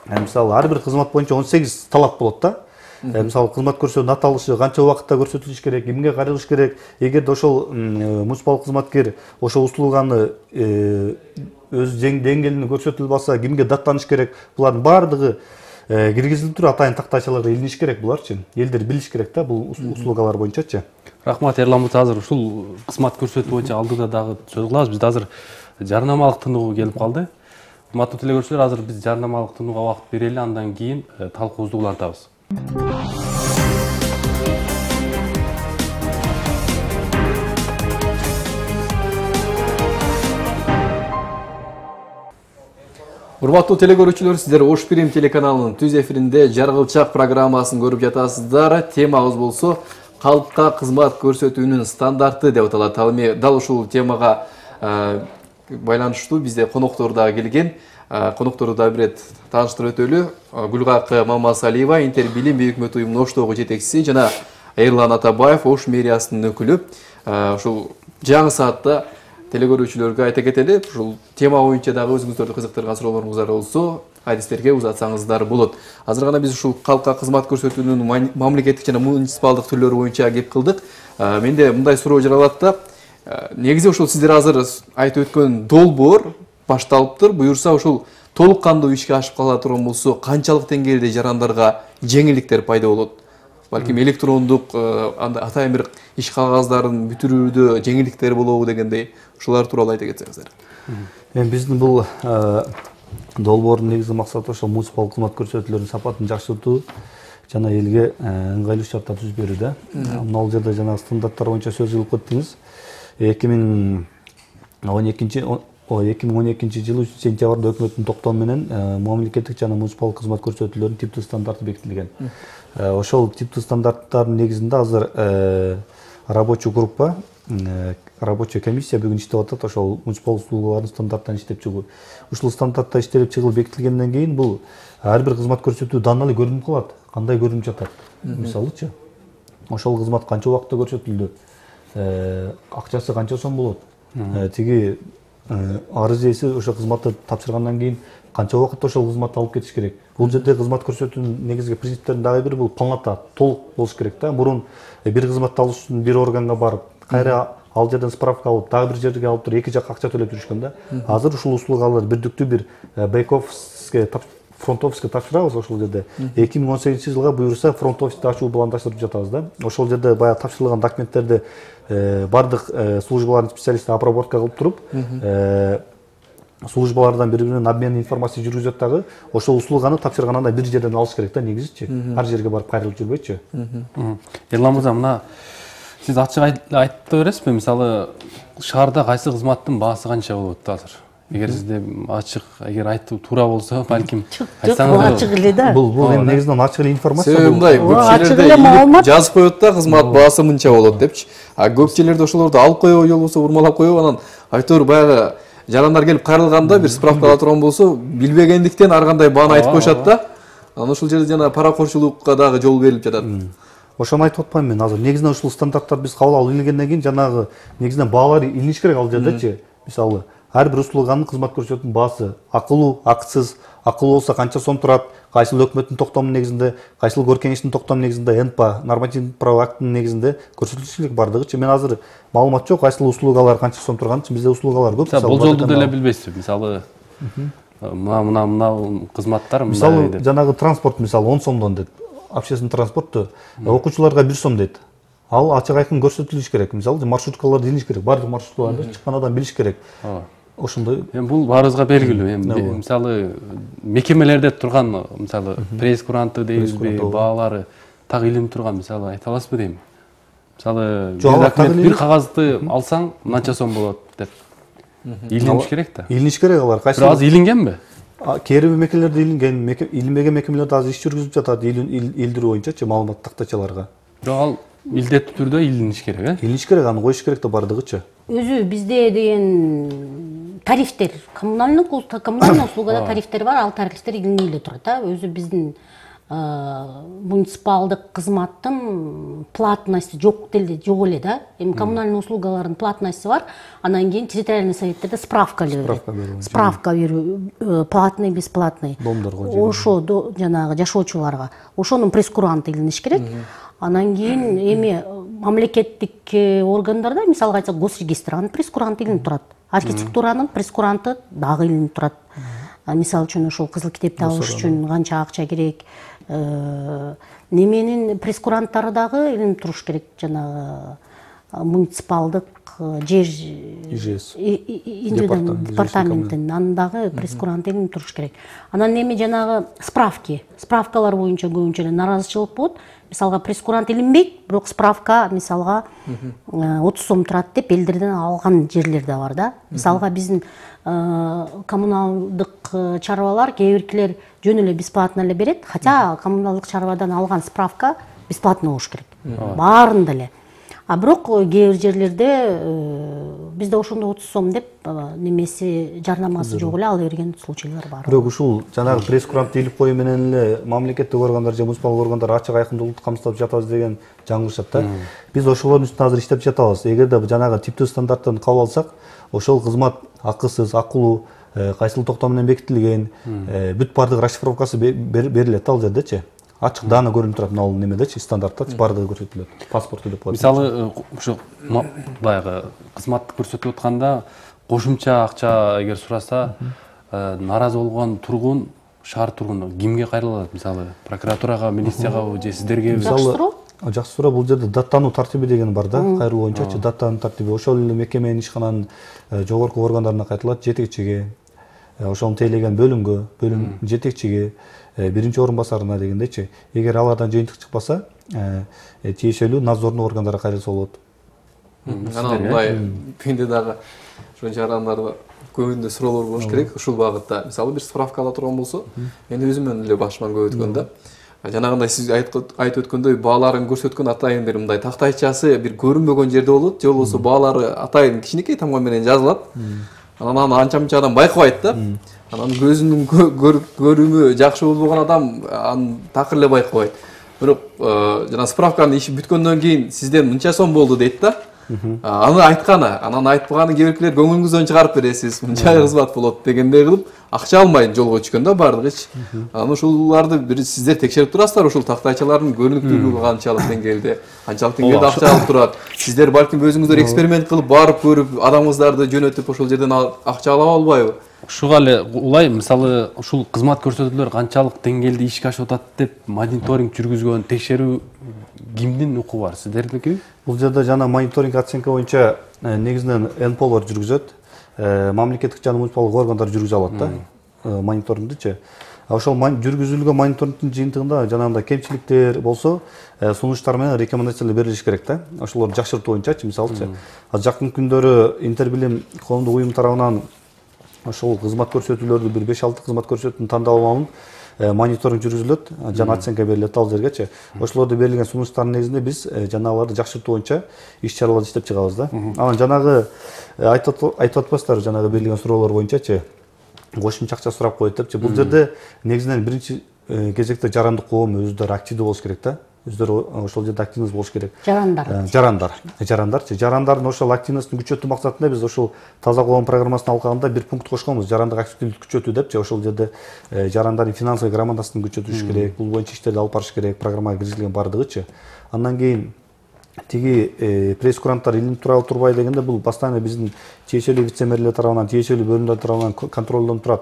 [SPEAKER 8] мисалы ар бир кызмат боюнча 18 талап болот да. Мисалы кызмат көрсөтүүнүн аталышы, канча убакытта көрсөтүлүш керек, кимге кайрылыш керек. Эгерде ошол муниципалдык кызматкер ошол услуганы өз деңгээлине көрсөтө албаса, кимге даттаныш керек, булардын баардыгы киргизилип туруп атайын тактайчаларга илиниш керек буларчы. Элдер билиш керек да бул услугалар боюнчачы.
[SPEAKER 1] Рахмат Эрлан мырза, азыр ушул кызмат көрсөтүү боюнча алдыда дагы сөз кылабыз. Бизде азыр жарнамалык тынугу келип калды. Урматтуу телегөрүүчүлөр, азыр биз жарнамалык тынууга убакыт берели, андан кийин талкуубузду улантабыз.
[SPEAKER 2] Урматтуу телегөрүүчүлөр, сиздер Ош Прим телеканалынын түз эфиринде Жаргылчак программасын көрүп жатасыздар. Темабыз болсо калкка кызмат көрсөтүүнүн стандарты деп аталат. Ал эми дал ушул темага байланыштуу бизде коноктору да келген. Коноктору да бир рет тааныштырып өтөлү. Гүлгакы Мамасалиева, Интер билим өкмөт уюмунун Оштогу жетекчиси жана Эрлан Атабаев, Ош мэриясынын өкүлү. Ушул жаңы саатта телегөрүүчүлөргө айта кетели, ушул тема боюнча дагы өзүңүздөрдү кызыктырган суроолоруңуздар болсо, адистерге узатсаңыздар болот. Азыр гана биз ушул калкка кызмат көрсөтүүнүн мамлекеттик жана муниципалдык түрлөрү боюнча кеп кылдык. Менде мындай суроо жаралат да. Негизи ушул сиздер азыр айтып өткөн долбоор башталыптыр. Буюрса ушул толук кандуу ишке ашып кала турган болсо, канчалык деңгээлде жарандарга жеңилдиктер пайда болот? Балким электрондук атайын бир иш кагаздарын бүтүрүүдө жеңилдиктер болобу дегендей, ушулар тууралуу айта кетсеңиздер.
[SPEAKER 8] Эми биздин бул долбоордун негизги максаты ошол муниципалдык кызмат көрсөтүүлөрүнүн сапатын жакшыртуу жана элге ыңгайлуу шарттар түзүп берүү да. Ал жерде жана стандарттар боюнча сөз кылып кеттиңиз. 2012 жылы сентябрда өкмөттүн токтому менен мамлекеттик жана муниципалдык кызмат көрсөтүүлөрүнүн типтүү стандарты бекитилген. Ошол типтүү стандарттардын негизинде азыр рабочий группа, рабочая комиссия бүгүн иштеп атат ошол муниципалдык услугалардын стандарттарын иштеп чыгуу. Ушул стандарттар иштелип чыгылып бекитилгенден кийин бул ар бир кызмат көрсөтүү даналуу көрүнүп калат. Кандай көрүнүп жатат? Мисалычы, ошол кызмат канча убакытта көрсөтүлдү? Акчасы канча сом болот? Тиги арыз ээси ошол кызматты тапшыргандан кийин канча убакытта ошол кызматты алып кетиш керек? Бул жерде кызмат көрсөтүүнүн негизги принциптеринин дагы бири бул полнота, толук болуш керек да. Мурун бир кызматты алыш үчүн бир органга барып, кайра ал жерден справка алып, дагы бир жерге алып туруп эки жакка акча төлөп жүрүшкөн да. Азыр ушул услугаларды бирдиктүү бир бек-офиске, фронт офиске тапшырабыз ошол жерде. 2018-жылга буюрса фронт офисти ачуу пландаштырып жатабыз да. Ошол жерде баягы тапшырылган документтерди бардык службалардын специалисти обработка кылып туруп, службалардан бири-биринен обмен информация жүргүзөт дагы ошол услуганы тапшыргандан бир жерден алыш керек да негизичи. Ар жерге барып кайрылып жүрбөйчү.
[SPEAKER 1] Эрлан мырза, мына сиз ачык айтып бересизби? Мисалы, шаарда кайсы кызматтын баасы канча болот азыр? Эгер сизде ачык, эгер айтуу туура болсо, балким
[SPEAKER 7] айтсаңыз. Ачык эле да.
[SPEAKER 8] Бул эми негизинен ачык эле информация.
[SPEAKER 2] Себеби мындай, көп жерлерде жазып коет да, кызмат баасы мынча болот депчи. А көп жерлерде ошолорду алып коебу, же болбосо урмалап коебу, анан айтор баягы жарандар келип кайрылганда бир справка ала турган болсо, билбегендиктен ар кандай бааны айтып коюшат да. Анан ошол жерде жана паракорчулукка дагы жол берилип жатат.
[SPEAKER 8] Ошону айтып атпаймынбы мен азыр. Негизинен ушул стандарттар биз кабыл алып илингенден кийин жанагы негизинен баалар илиниш керек ал жердечи. Мисалы, ар бир услуганын кызмат көрсөтүүнүн баасы акылуу, акысыз, акылуу болсо канча сом турат, кайсыл өкмөттүн токтому негизинде, кайсыл өр кеңештин токтому негизинде, НПА нормативдик правовой актынын негизинде көрсөтүлүшү керек бардыгычы. Мен азыр маалымат жок, кайсыл услугалар канча сом турганын. Бизде услугалар көп.
[SPEAKER 1] Болжолду деле билбейсизби? Мисалы мына кызматтар
[SPEAKER 8] мисалы жанагы транспорт мисалы 10 сомдон дейт. Общественный транспортту окуучуларга 1 сом дейт. Ал ачык айкын көрсөтүлүш керек. Мисалы маршруткаларды илиш керек. Бардык маршруткаларды чыккан адам билиш керек. Ошондой.
[SPEAKER 1] Бул баарыбызга белгилүү. Мисалы мекемелерде турган мисалы пресс-куранты дейбизби, баалары так илинип турган мисалы айта аласызбы дейм. Мисалы бир кагазды алсаң мынча сом болот деп илиниш керек да.
[SPEAKER 8] Илиниш керек алар.
[SPEAKER 1] Кайсы аз илингенби?
[SPEAKER 8] Кээ бир мекемелерде илинген, илинбеген мекемелерде азыр иш жүргүзүп жатат илдирүү боюнчачы маалымат тактачаларга.
[SPEAKER 1] Бирок ал илдеттүү түрдө илиниш керек,
[SPEAKER 8] Илиниш керек, аны коюш керек да бардыгычы.
[SPEAKER 7] Өзү бизде деген тарифтер, коммунальный услугада тарифтер бар, ал тарифтер илинип эле турат. Өзү биздин муниципалдык кызматтын платности жок эле да. Эми коммунальный услугалардын платности бар. Анан кийин территориальный советтерде справка берет. Справка берүү, платный, бесплатный. Ошо жанагы жашоочуларга. Ошонун пресс-куранты илиниш керек. Анан кийин эми мамлекеттик органдарда, мисалга айтсак, госрегистр, анын пресс-куранты илинип турат. Архитектуранын пресс-куранты дагы илинип турат. Мисалы үчүн ошол кызыл китепти алыш үчүн канча акча керек, неменин пресс-куранттары дагы илинип туруш керек, жанагы муниципалдык жер департаменттин анын дагы пресс-куранты илинип туруш керек. Анан эми жанагы справкалар боюнча көбүнчө эле наразычылык болот. Мисалга пресс-курант илинбейт, бирок справка мисалга 30 сом турат деп элдерден алган жерлер да бар да. Мисалга биздин коммуналдык чарбалар кээ биркилер жөн эле бесплатно эле берет, хотя коммуналдык чарбадан алган справка бесплатно болуш керек. Баарында эле. А бирок кээ бир жерлерде бизде ошондо 30 сом деп немеси жарнамасы жок эле ала берген случайлар бар.
[SPEAKER 8] Бирок ушул жанагы пресс-курантты илип коюу менен эле мамлекеттик органдар же муниципалдык органдар ачык айкындуулукту камсыздап жатабыз деген жаңылышат да. Биз ошолордун үстүнө азыр иштеп жатабыз. Эгерде жанагы типтүү стандарттарды кабыл алсак, ошол кызмат акысыз, акылуу, кайсыл токтом менен бекитилген, бүт бардык расшифровкасы берилет ал жердечи. Ачык даана көрүнүп турат мына немедечи, стандартта бардыгы көрсөтүлөт. Паспорту деп коет.
[SPEAKER 1] Мисалы ушу баягы кызматты көрсөтүп атканда кошумча акча эгер сураса, наразы болгон тургун, шаар тургуну кимге кайрыла алат? Мисалы прокуратурага, милициягабы же сиздерге?
[SPEAKER 8] Жакшы суроо. Бул жерде даттануу тартиби деген бар да, кайрылуу боюнчачы даттануу тартиби. Ошол эле мекеменин ишкананын жогорку органдарына кайтылат, жетекчиге, ошону тейлеген бөлүмгө, бөлүм жетекчиге, биринчи орун басарына дегендечи. Эгер алардан жыйынтык чыкпаса, тиешелүү надзорный органдарга кайрылса болот.
[SPEAKER 2] Анан мындай менде дагы ошончо адамдарда көбүндө суроолор болуш керек ушул багытта. Мисалы бир справка ала турган болсо, мен өзүмөн эле башыман көп өткөн да. Жанагындай сиз айтып өткөндөй бааларын көрсөткөн атайын бир мындай тактайчасы бир көрүнбөгөн жерде болот, же болбосо баалары атайын кичинекей тамга менен жазылат. Анан аны анча-мынча адам байкабайт да. Анан көзүнүн көрүмү жакшы болбогон адам аны такыр эле байкабайт. Бирок жана справканын иши бүткөндөн кийин сизден мынча сом болду дейт да. Аны айтканы, анан айтпаганы кээ биркилер көңүлүңүздөн чыгарып бересиз, мынча кызмат болот дегендей кылып акча алмай жолго түшкөн да бардыгычы. Анан ушуларды бир сиздер текшерип турасыздар, ушул тактайчалардын көрүнүктүүлүгү канчалык деңгээлде акча алып турат. Сиздер балким өзүңүздөр эксперимент кылып барып көрүп, адамыңыздарды жөнөтүп ошол жерден акча ала албайбы?
[SPEAKER 1] Ушуга эле улай, мисалы ушул кызмат көрсөтүүлөр канчалык деңгээлде ишке ашып атат деп мониторинг жүргүзгөн, текшерүү кимдин укугу бар? Сиздердикиби?
[SPEAKER 8] Бул жерде жана мониторинг оценка боюнча негизинен НПОлор жүргүзөт, мамлекеттик жана муниципалдык органдар жүргүзө алат да, мониторингдичи. Ошол жүргүзүлгөн мониторингдин жыйынтыгында жанагындай кемчиликтер болсо, сунуштар менен рекомендациялар берилиш керек да. Ошолорду жакшыртуу боюнчачы, мисалычы. Жакын күндөрү Интербилим коомдук уюм тарабынан ошол кызмат көрсөтүүлөрдү бир 5-6 кызмат көрсөтүүнүн тандап алуун мониторинг жүргүзүлөт, жана оценка берилет ал жергечи. Ошолордо берилген сунуштардын негизинде биз жанагыларды жакшыртуу боюнча иш-чаралар иштеп чыгабыз да. Анан жанагы айтып атпайсыздарбы, жанагы берилген суроолор боюнчачы кошумча акча сурап коет депчи. Бул жерде негизинен биринчи кезекте жарандык коом өзүлөрү активдүү болуш керек да. өздөрү ошол жерде активность болуш керек.
[SPEAKER 7] Жарандардын
[SPEAKER 8] ошол активностун күчөтүү максатында биз ошол таза коом программасынын алкагында бир пункт кошконбуз, жарандык активдүүлүктү күчөтүү депчи. Ошол жерде жарандардын финансовый грамотасын күчөтүш керек, бул боюнча иштерди алып барыш керек, программага киргизилген бардыгычы. Андан кийин тиги пресс-куранттар илинип турабы турбайбы дегенде, бул постоянно биздин тиешелүү вице-мэрлер тарабынан, тиешелүү бөлүмдөр тарабынан контролдон турат.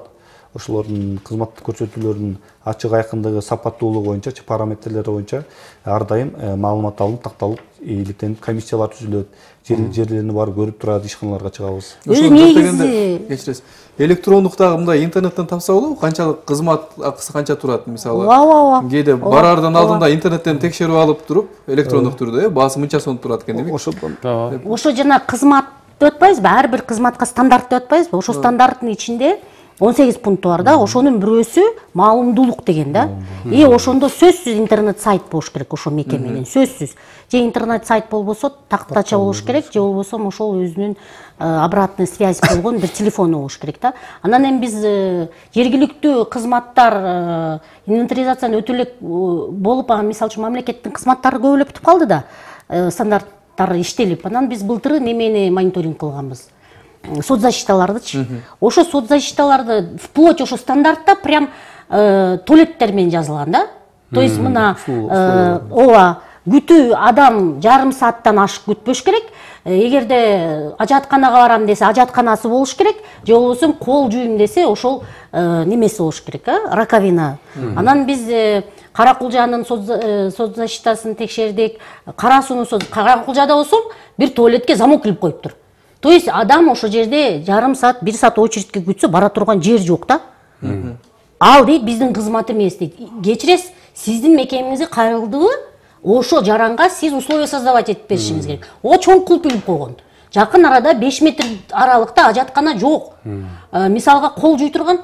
[SPEAKER 8] Ошолордун кызмат көрсөтүүлөрүнүн ачык айкындыгы, сапаттуулугу боюнча, параметрлери боюнча ар дайым маалымат алынып, такталып, иликтенип, комиссиялар түзүлөт. Жерлерине барып көрүп турат, ишканаларга чыгабыз.
[SPEAKER 7] Өзү негизи
[SPEAKER 2] кечиресиз. Электрондуктагы мындай интернеттен тапса болобу? Канчалык кызмат акысы канча турат мисалы?
[SPEAKER 7] Ооба.
[SPEAKER 2] Кээде бараардан алдында интернеттен текшерип алып туруп, электрондук түрдө баасы мынча сом турат экен демек.
[SPEAKER 7] Ошо жана кызмат деп атпайбызбы? Ар бир кызматка стандарт деп атпайбызбы? Ошо стандарттын ичинде 18 пункту бар да, ошонун бирөөсү маалымдуулук деген да. Ошондо сөзсүз интернет сайт болуш керек ошо мекеменин, сөзсүз. Же интернет сайт болбосо тактача болуш керек, же болбосо ошол өзүнүн обратная связь болгон бир телефону болуш керек да. Анан эми биз жергиликтүү кызматтар инвентаризацияны өтө элек болуп, мисалы үчүн мамлекеттин кызматтары көбөлөп бүтүп калды да, стандарттар иштелип. Анан биз былтыры немени мониторинг кылганбыз. Соцзащиталардычы. Ошо соцзащиталарды вплоть ошо стандартта прям туалеттер менен жазылган да. То есть мына ооба күтүү адам жарым сааттан ашык күтпөш керек. Эгерде ажатканага барам десе, ажатканасы болуш керек, же болбосо кол жууйм десе, ошол немеси болуш керек, раковина. Анан биз Каракулжанын соцзащитасын текшердик. Каракулжада болсо бир туалетке замок илип коюптур. То есть адам ошо жерде жарым саат, 1 саат очередке күтсө бара турган жер жок да. Ал дейт биздин кызмат эмес дейт. Кечиресиз, сиздин мекемеңизге кайрылдыбы? Ошо жаранга сиз условия создавать этип беришиңиз керек. Чоң кулп илип койгон. Жакын арада 5 метр аралыкта ажаткана жок. Мисалга кол жуй турган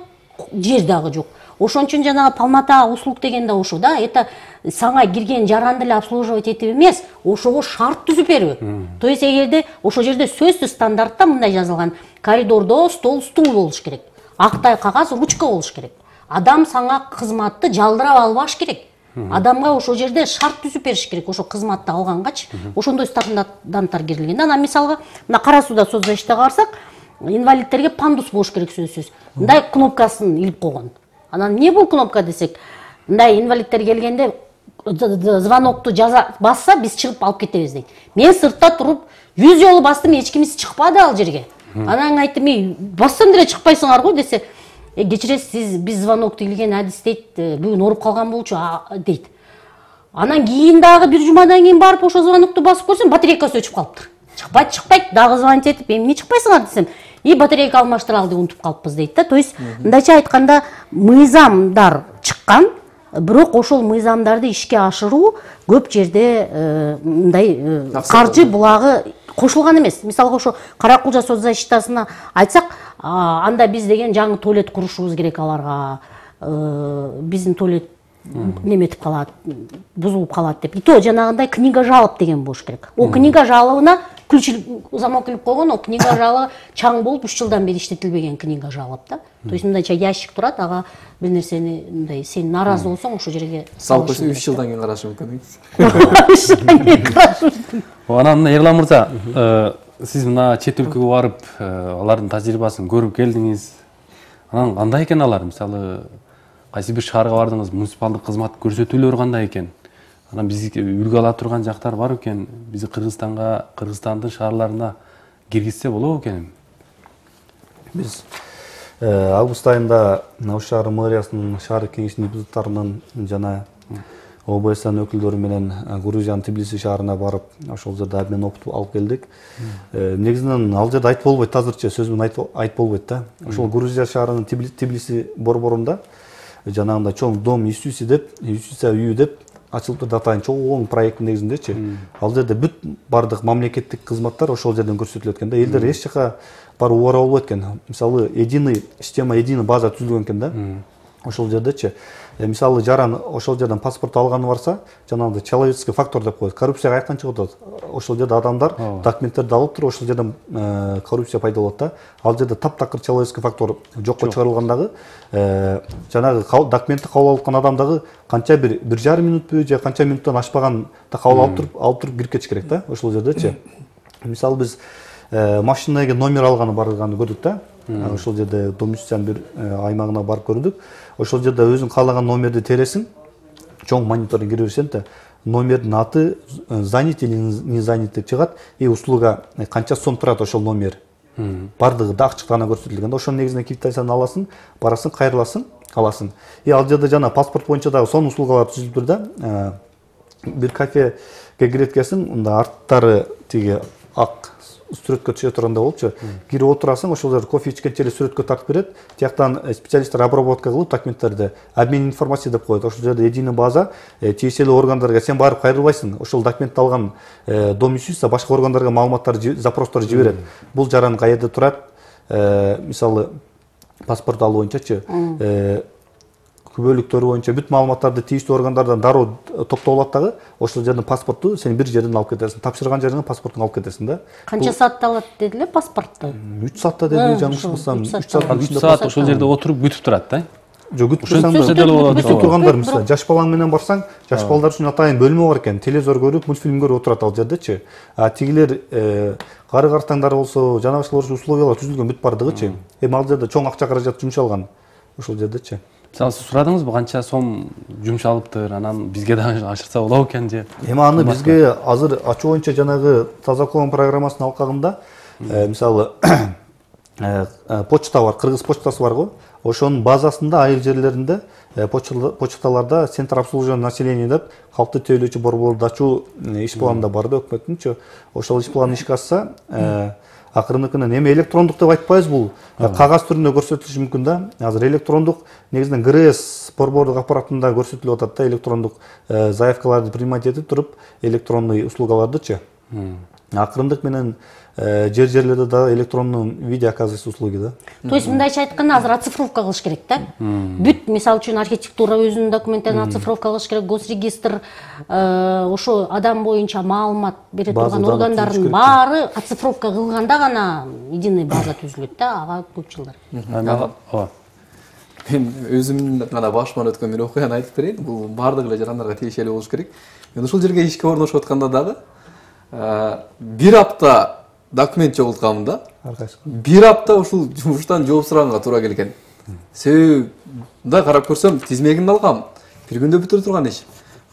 [SPEAKER 7] жер дагы жок. Ошон үчүн жанагы полнота услуг деген да ошо да. Это саңа кирген жаранды эле обслуживать этип эмес, ошого шарт түзүп берүү. То есть эгерде ошо жерде сөзсүз стандартта мындай жазылган: коридордо стол, стул болуш керек. Актай кагаз, ручка болуш керек. Адам саңа кызматты жалдырап албаш керек. Адамга ошо жерде шарт түзүп бериш керек, ошо кызматты алгангачы. Ошондой стандарттар кирилген. Анан мисалга мына Кара сууда соцзащитага барсак, инвалидтерге пандус болуш керек сөзсүз. Мындай кнопкасын илип койгон. Анан эмне бул кнопка десек, мындай инвалидтер келгенде звонокту басса, биз чыгып алып кетебиз дейт. Мен сыртта туруп 100 жолу бастым, эч кимиси чыкпады ал жерге. Анан айттым, бассам деле чыкпайсыңар го десе, кечиресиз, биз звонокту илген адис дейт, бүгүн ооруп калган болчу дейт. Анан кийин дагы бир жумадан кийин барып ошо звонокту басып көрсөм, батарейкасы өчүп калыптыр. Чыкпайт, дагы звонить этип, эмне чыкпайсыңар десем, батарейка алмаштыралды, унутуп калыппыз дейт да. То есть мындайча айтканда мыйзамдар чыккан, бирок ошол мыйзамдарды ишке ашыруу көп жерде мындай каржы булагы кошулган эмес. Мисалга ошо Каракулжа соцзащитасына айтсак, анда биз деген жаңы туалет курушубуз керек аларга. Биздин туалет неметип калат, бузулуп калат деп. И то жанагындай книга жалоб деген болуш керек. О книга жалобуна ключ замок илип койгон, о книга жалобы чаң болуп 3 жылдан бери иштетилбеген книга жалоб да. То есть мындайча ящик турат, ага бир нерсени мындай сен наразы болсоң ошо жерге
[SPEAKER 2] салып койсоң 3 жылдан кийин карашы мүмкүн.
[SPEAKER 7] 3 жылдан кийин карашы мүмкүн.
[SPEAKER 1] Анан Эрлан мырза, сиз мына чет өлкөгө барып, алардын тажрыйбасын көрүп келдиңиз. Анан кандай экен алар? Мисалы, кайсы бир шаарга бардыңыз, муниципалдык кызмат көрсөтүүлөрү кандай экен? Анан бизге үлгү ала турган жактар бар экен? Бизи Кыргызстандын шаарларына киргизсе болобу экен?
[SPEAKER 8] Биз август айында Ош шаары мэриясынын шаар кеңешинин депутаттарынын жана ОБСН өкүлдөрү менен Грузиянын Тбилиси шаарына барып, ошол жерде обмен опыт алып келдик. Негизинен ал жерде айтып болбойт, азырча сөз менен айтып болбойт да. Ошол Грузия шаарынын Тбилиси борборунда жанагындай чоң дом юстиция үйү деп ачылып турду, атайын чоң проекттин негизиндечи. Ал жерде бүт бардык мамлекеттик кызматтар ошол жерден көрсөтүлөт экен да. Элдер эч жака барып убара болбойт экен. Мисалы, система единый база түзүлгөн экен да. ошол жердечи мисалы жаран ошол жерден паспорт алганы барса, жанагындай человеческий фактор деп коет. Коррупция каяктан чыгып атат? Ошол жерде адамдар документтерди алып туруп ошол жерден коррупция пайда болот да. Ал жерде таптакыр человеческий фактор жокко чыгарылгандагы жанагы документти кабыл алып аткан адам дагы канча бир 1,5 минутпу же канча минуттан ашпаган кабыл алып туруп кирип кетиш керек да. Ошол жердечи мисалы биз машинага номер алганы барганы көрдүк да. Ошол жерде Домюсян бир аймагына барып көрдүк. Ошол жерде өзүң каалаган номерди тересиң, чоң монитордон кире берсең да, номердин аты занят или не занят деп чыгат, и услуга канча сом турат ошол номер. Бардыгы да ачык гана көрсөтүлгөн. Ошонун негизинде квитанцияны аласың, барасың, кайрыласың, каласың. И ал жерде жана паспорт боюнча дагы сонун услугалар түзүлүп тур да. Бир кафеге кирип экенсиң, мында арттары тиги ак сүрөткө түшө тургандай болчу. Кирип отурасың, ошол жерде кофе ичкенче эле сүрөткө тартып берет. Тияктан специалисттер обработка кылып документтерди обмен информация деп коет. Ошол жерде единый база тиешелүү органдарга сен барып кайрылбайсың. Ошол документти алган Домюсюс башка органдарга маалыматтар, запростор жиберет. Бул жаран каерде турат? Мисалы паспорт алуу боюнчачы күбөлүктөрү боюнча бүт маалыматтарды тийиштүү органдардан дароо топтоп алат дагы, ошол жерден паспортту сен бир жерден алып кетесиң. Тапшырган жериңен паспортуңду алып кетесиң да.
[SPEAKER 7] Канча саатта алат дедиле паспортту?
[SPEAKER 8] 3 саатта деди, жаңылышпасам.
[SPEAKER 1] 3 саат ошол жерде отуруп күтүп турат да.
[SPEAKER 8] Жок, күтүп тургандар мисалы жаш балаң менен барсаң, жаш балдар үчүн атайын бөлмө бар экен. Телевизор көрүп, мультфильм көрүп отурат ал жердечи. А тигилер кары картаңдар болсо, жанагылар условиялар түзүлгөн бүт бардыгычы. Эми ал жерде чоң акча каражат жумшалган ошол жердечи.
[SPEAKER 1] Мисалы сиз сурадыңызбы канча сом жумшалыптыр, анан бизге дагы ашырса болобу экен же?
[SPEAKER 8] Эми аны бизге азыр ачуу боюнча жанагы Тазакон программасынын алкагында мисалы почта бар, кыргыз почтасы бар го. Ошонун базасында айыл жерлеринде почталарда центр обслуживания населения деп калкты тейлөөчү борборду ачуу иш планында бар да өкмөттүнчү. Ошол иш планы ишке ашса акырыныкынан эми электрондук деп айтпайбыз, бул кагаз түрүндө көрсөтүлүшү мүмкүн да. Азыр электрондук негизинен ГРС борбордук аппаратында көрсөтүлүп атат да, электрондук заявкаларды принимать этип туруп электронный услугалардычы. Акырындык менен жерлерде да электронный видео оказывается услуги да.
[SPEAKER 7] То есть мындайча айтканда азыр оцифровка кылыш керек да. Бүт мисалы үчүн архитектура өзүнүн документтерин оцифровка кылыш керек, госрегистр ошо адам боюнча маалымат бере турган органдардын баары оцифровка кылганда гана единый база түзүлөт да, ага көп жылдар.
[SPEAKER 2] Мен өзүмдүн гана башыман өткөн бир окуяны айтып берейин. Бул бардык эле жарандарга тиешелүү болуш керек. Мен ушул жерге ишке орношуп атканда дагы бир апта документ жогултканмын да. Бир апта ушул жумуштан жооп сураганга туура келген. Себеби мындай карап көрсөм, тизмегин алгам, бир күндө бүтүрө турган иш.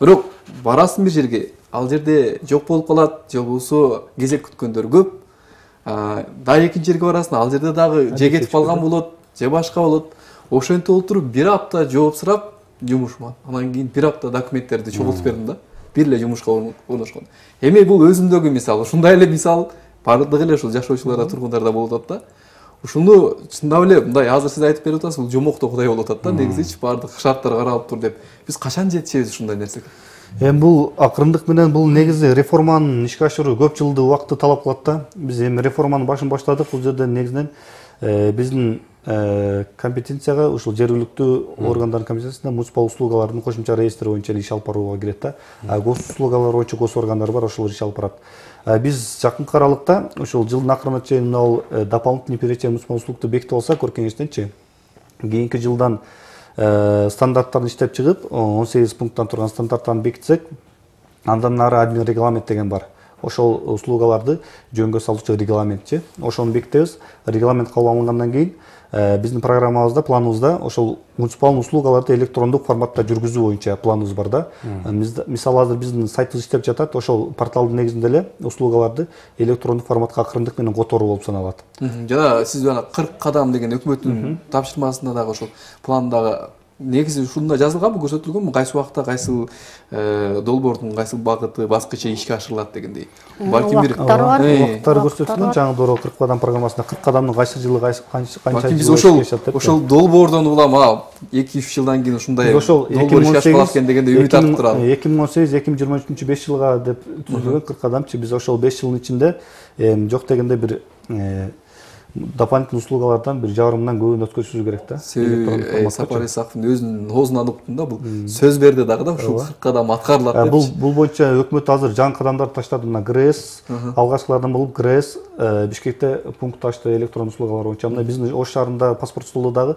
[SPEAKER 2] Бирок барасың бир жерге, ал жерде жок болуп калат, же болбосо кезек күткөндөр көп. Дагы экинчи жерге барасың, ал жерде дагы же кетип калган болот, же башка болот. Ошентип олтуруп бир апта жооп сурап жумушман. Анан кийин бир апта документтерди чогултуп бердим да. Бир эле жумушка орношкон. Эми бул өзүмдөгү мисал, ушундай эле мисал бардык эле ушул жашоочуларда, тургундарда болуп атат да. Ушуну чындап эле мындай азыр сиз айтып берип атасыз, бул жомоктогудай болуп атат да. Негизичи бардык шарттар каралып тур деп. Биз качан жетишебиз ушундай нерсеге?
[SPEAKER 8] Эми бул акырындык менен бул негизи реформанын ишке ашыруу көп жылдык убакытты талап кылат да. Биз эми реформанын башын баштадык. Бул жерде негизинен биздин компетенцияга ушул жергиликтүү органдардын компетенциясында муниципал услугалардын кошумча реестри боюнча иш алып барууга кирет да. Гос услугалар боюнча гос органдар бар, ошолор иш алып барат. Биз жакынкы аралыкта ушул жылдын акырына чейин ал дополнительный перечень муниципал услугду бекитип алсак, кеңештенчи кийинки жылдан стандарттарын иштеп чыгып, 18 пункттан турган стандарттарын бекитсек, андан нары админ регламент деген бар. Ошол услугаларды жөнгө салуучу регламентчи. Ошону бекитебиз. Регламент кабыл алынгандан кийин биздин программабызда, планыбызда ошол муниципал услугаларды электрондук форматта жүргүзүү боюнча планыбыз бар да. Мисалы азыр биздин сайтыбыз иштеп жатат, ошол порталдын негизинде эле услугаларды электрондук форматка акырындык менен которуу болуп саналат.
[SPEAKER 2] Жана сиз жана 40 кадам деген өкмөттүн тапшырмасында дагы ошол пландагы негизи ушунда жазылганбы, көрсөтүлгөнбү, кайсы убакта кайсыл долбоордун кайсыл багыты, баскычы ишке ашырылат дегендей.
[SPEAKER 7] Балким бир убактары
[SPEAKER 8] көрсөтүлгөн. Жаңы доро 40 кадам программасында 40 кадамдын кайсы жылы канча
[SPEAKER 2] биз ошол долбоордон улам 2-3 жылдан кийин ушундай долбоор ишке ашырылат экен дегенде үмүт артып турат.
[SPEAKER 8] 2018-2023 5 жылга деп түзүлгөн 40 кадамчы. Биз ошол 5 жылдын ичинде жок дегенде бир дополнительный услугалардан бир жарымдан көбүн өткөзүшүбүз керек да.
[SPEAKER 2] Себеби Сапар Исаковдун өзүнүн оозунан уктум да, бул сөз берди дагы да, ушул 40 кадам аткарылат деп.
[SPEAKER 8] Бул боюнча өкмөт азыр жаңы кадамдар таштады. Мына ГРЭС алгачкылардан болуп ГРЭС Бишкекте пункт ачты электрондук услугалар боюнча. Мына биздин Ош шаарында паспорт столу дагы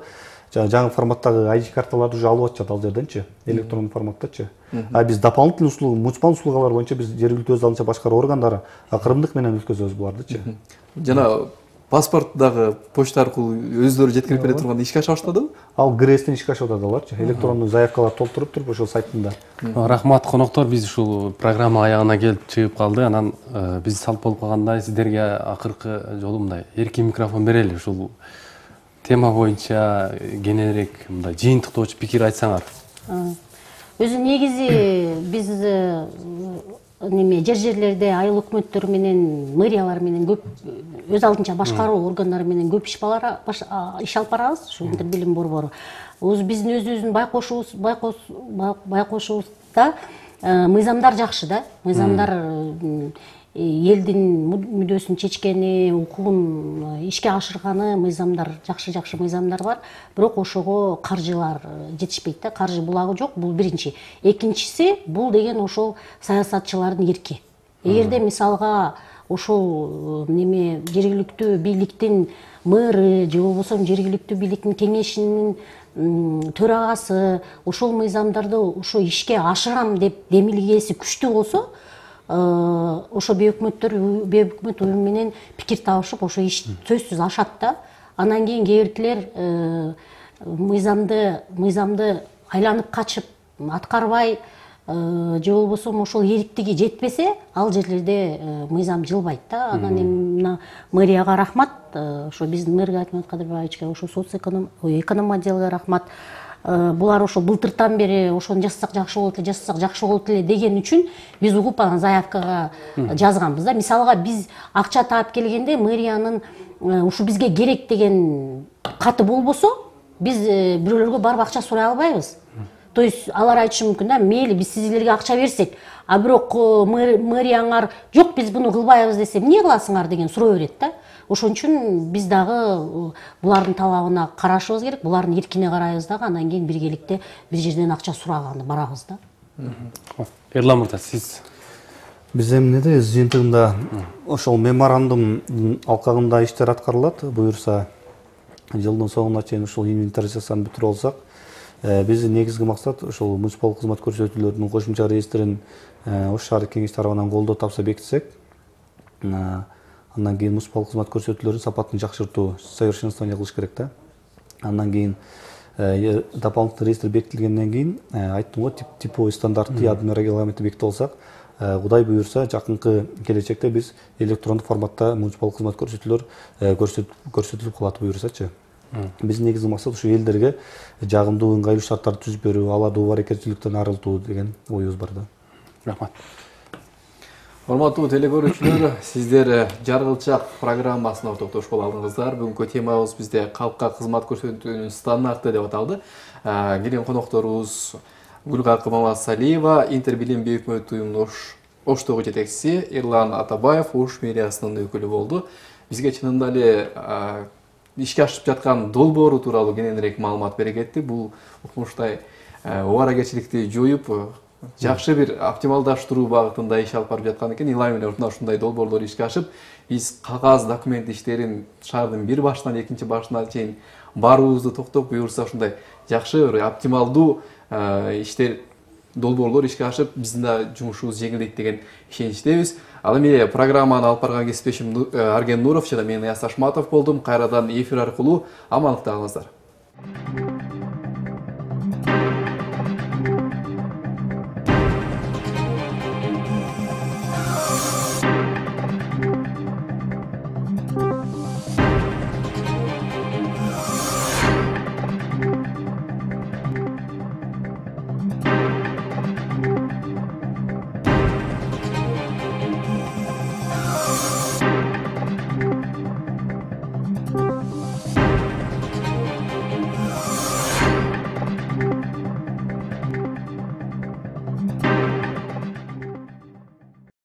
[SPEAKER 8] жаңы форматтагы ID карталарды уже алып атышат ал жерденчи, электрондук форматтачы. А биз дополнительный услуга, муниципалдык услугалар боюнча биз жергиликтүү өз алдынча башкаруу органдары акырындык менен өткөзөбүз булардычы.
[SPEAKER 2] Жана паспорт дагы почта аркылуу өздөрү жеткирип бере турганда ишке аша баштадыбы?
[SPEAKER 8] Ал ГРЭСтен ишке ашып атат аларчы. Электрондук заявкалар толтуруп туруп ошол сайтында.
[SPEAKER 1] Рахмат коноктор, биз ушул программа аягына келип чыгып калды. Анан биз салт болуп калгандай сиздерге акыркы жолу мындай эркин микрофон берели. Ушул тема боюнча кененирээк мындай жыйынтыктоочу пикир айтсаңар.
[SPEAKER 7] Өзү негизи биз жерлерде айыл өкмөттөр менен, мэриялар менен көп өз алдынча башкаруу органдары менен көп иш алып барабыз. Ушу интер билим борбору. Биздин өзүбүздүн байкошубузда мыйзамдар жакшы да. Мыйзамдар элдин мүддөсүн чечкени, укугун ишке ашырганы мыйзамдар, жакшы мыйзамдар бар. Бирок ошого каржылар жетишпейт да. Каржы булагы жок, бул биринчи. Экинчиси, бул деген ошол саясатчылардын эрки. Эгерде мисалга ошол жергиликтүү бийликтин мэры же болбосо жергиликтүү бийликтин кеңешинин төрагасы ошол мыйзамдарды ошо ишке ашырам деп демилгеси күчтүү болсо, ошо бейөкмөт уюм менен пикир табышып ошо иш сөзсүз ашат да. Анан кийин кээ биртилер мыйзамды айланып качып аткарбай же болбосо ошол эриктиги жетпесе, ал жерлерде мыйзам жылбайт да. Анан эми мэрияга рахмат, ошо биздин мэр Айтмат Кадырбаевичке, ошо эконом отделге рахмат. Булар ошо былтыртан бери ошону жасасак жакшы болот эле деген үчүн биз угуп анан заявкага жазганбыз да. Мисалга биз акча таап келгенде мэриянын ушу бизге керек деген каты болбосо, биз бирөөлөргө барып акча сурай албайбыз. То есть алар айтышы мүмкүн да, мейли биз силерге акча берсек, а бирок мэрияңар жок биз буну кылбайбыз десе, эмне кыласыңар деген суроо берет да. Ошон үчүн биз дагы булардын талабына карашыбыз керек, булардын эркине карайбыз дагы, анан кийин биргеликте бир жерден акча сураганы барабыз да.
[SPEAKER 1] Эрлан мырза, сиз?
[SPEAKER 8] Биз эмнеде өз жыйынтыгында ошол меморандум алкагында иштер аткарылат. Буюрса жылдын соңуна чейин ушул инвентаризацияны бүтүрүп алсак, биздин негизги максат ошол муниципалдык кызмат көрсөтүүлөрдүн кошумча реестрин Ош шаардык кеңеш тарабынан колдоо тапса бекитсек, андан кийин муниципалдык кызмат көрсөтүүлөрдүн сапатын жакшыртуу, совершенствование кылыш керек да. Андан кийин дополнительный реестр бекитилгенден кийин айттым го, типовой стандарты, ядерный регламенти бекитип алсак, Кудай буюрса, жакынкы келечекте биз электрондук форматта муниципалдык кызмат көрсөтүүлөр көрсөтүлүп калат буюрсачы. Биздин негизги максат ушу элдерге жагымдуу ыңгайлуу шарттарды түзүп берүү, аларды убарекетчиликтен арылтуу деген оюбуз бар да.
[SPEAKER 1] Рахмат.
[SPEAKER 2] Урматтуу телекөрүүчүлөр, сиздер Жаргылчак программасына токтошуп алдыңыздар. Бүгүнкү темабыз бизде калкка кызмат көрсөтүүнүн стандарты деп аталды. Келген конокторубуз Гүлгакымова Салиева, Интер билим бейөкмөт уюмунун Оштогу жетекчиси, Эрлан Атабаев Ош мэриясынын өкүлү болду. Бизге чынында эле ишке ашып жаткан долбоору тууралуу кененирээк маалымат бере кетти. Бул укмуштай убаракетчиликти жоюп, жакшы бир оптималдаштыруу багытында иш алып барып жаткан экен. Илай менен ушундай долбоорлор ишке ашып, биз кагаз документ иштерин шаардын бир башынан экинчи башына чейин баруубузду токтоп, буюрса ушундай жакшы бир оптималдуу иштер, долбоорлор ишке ашып, биздин да жумушубуз жеңилдейт деген ишеничтебиз. Ал эми программаны алып барган кесиптешим Арген Нуров жана мен Аяз Ашматов болдум. Кайрадан эфир аркылуу амандыкта калыңыздар.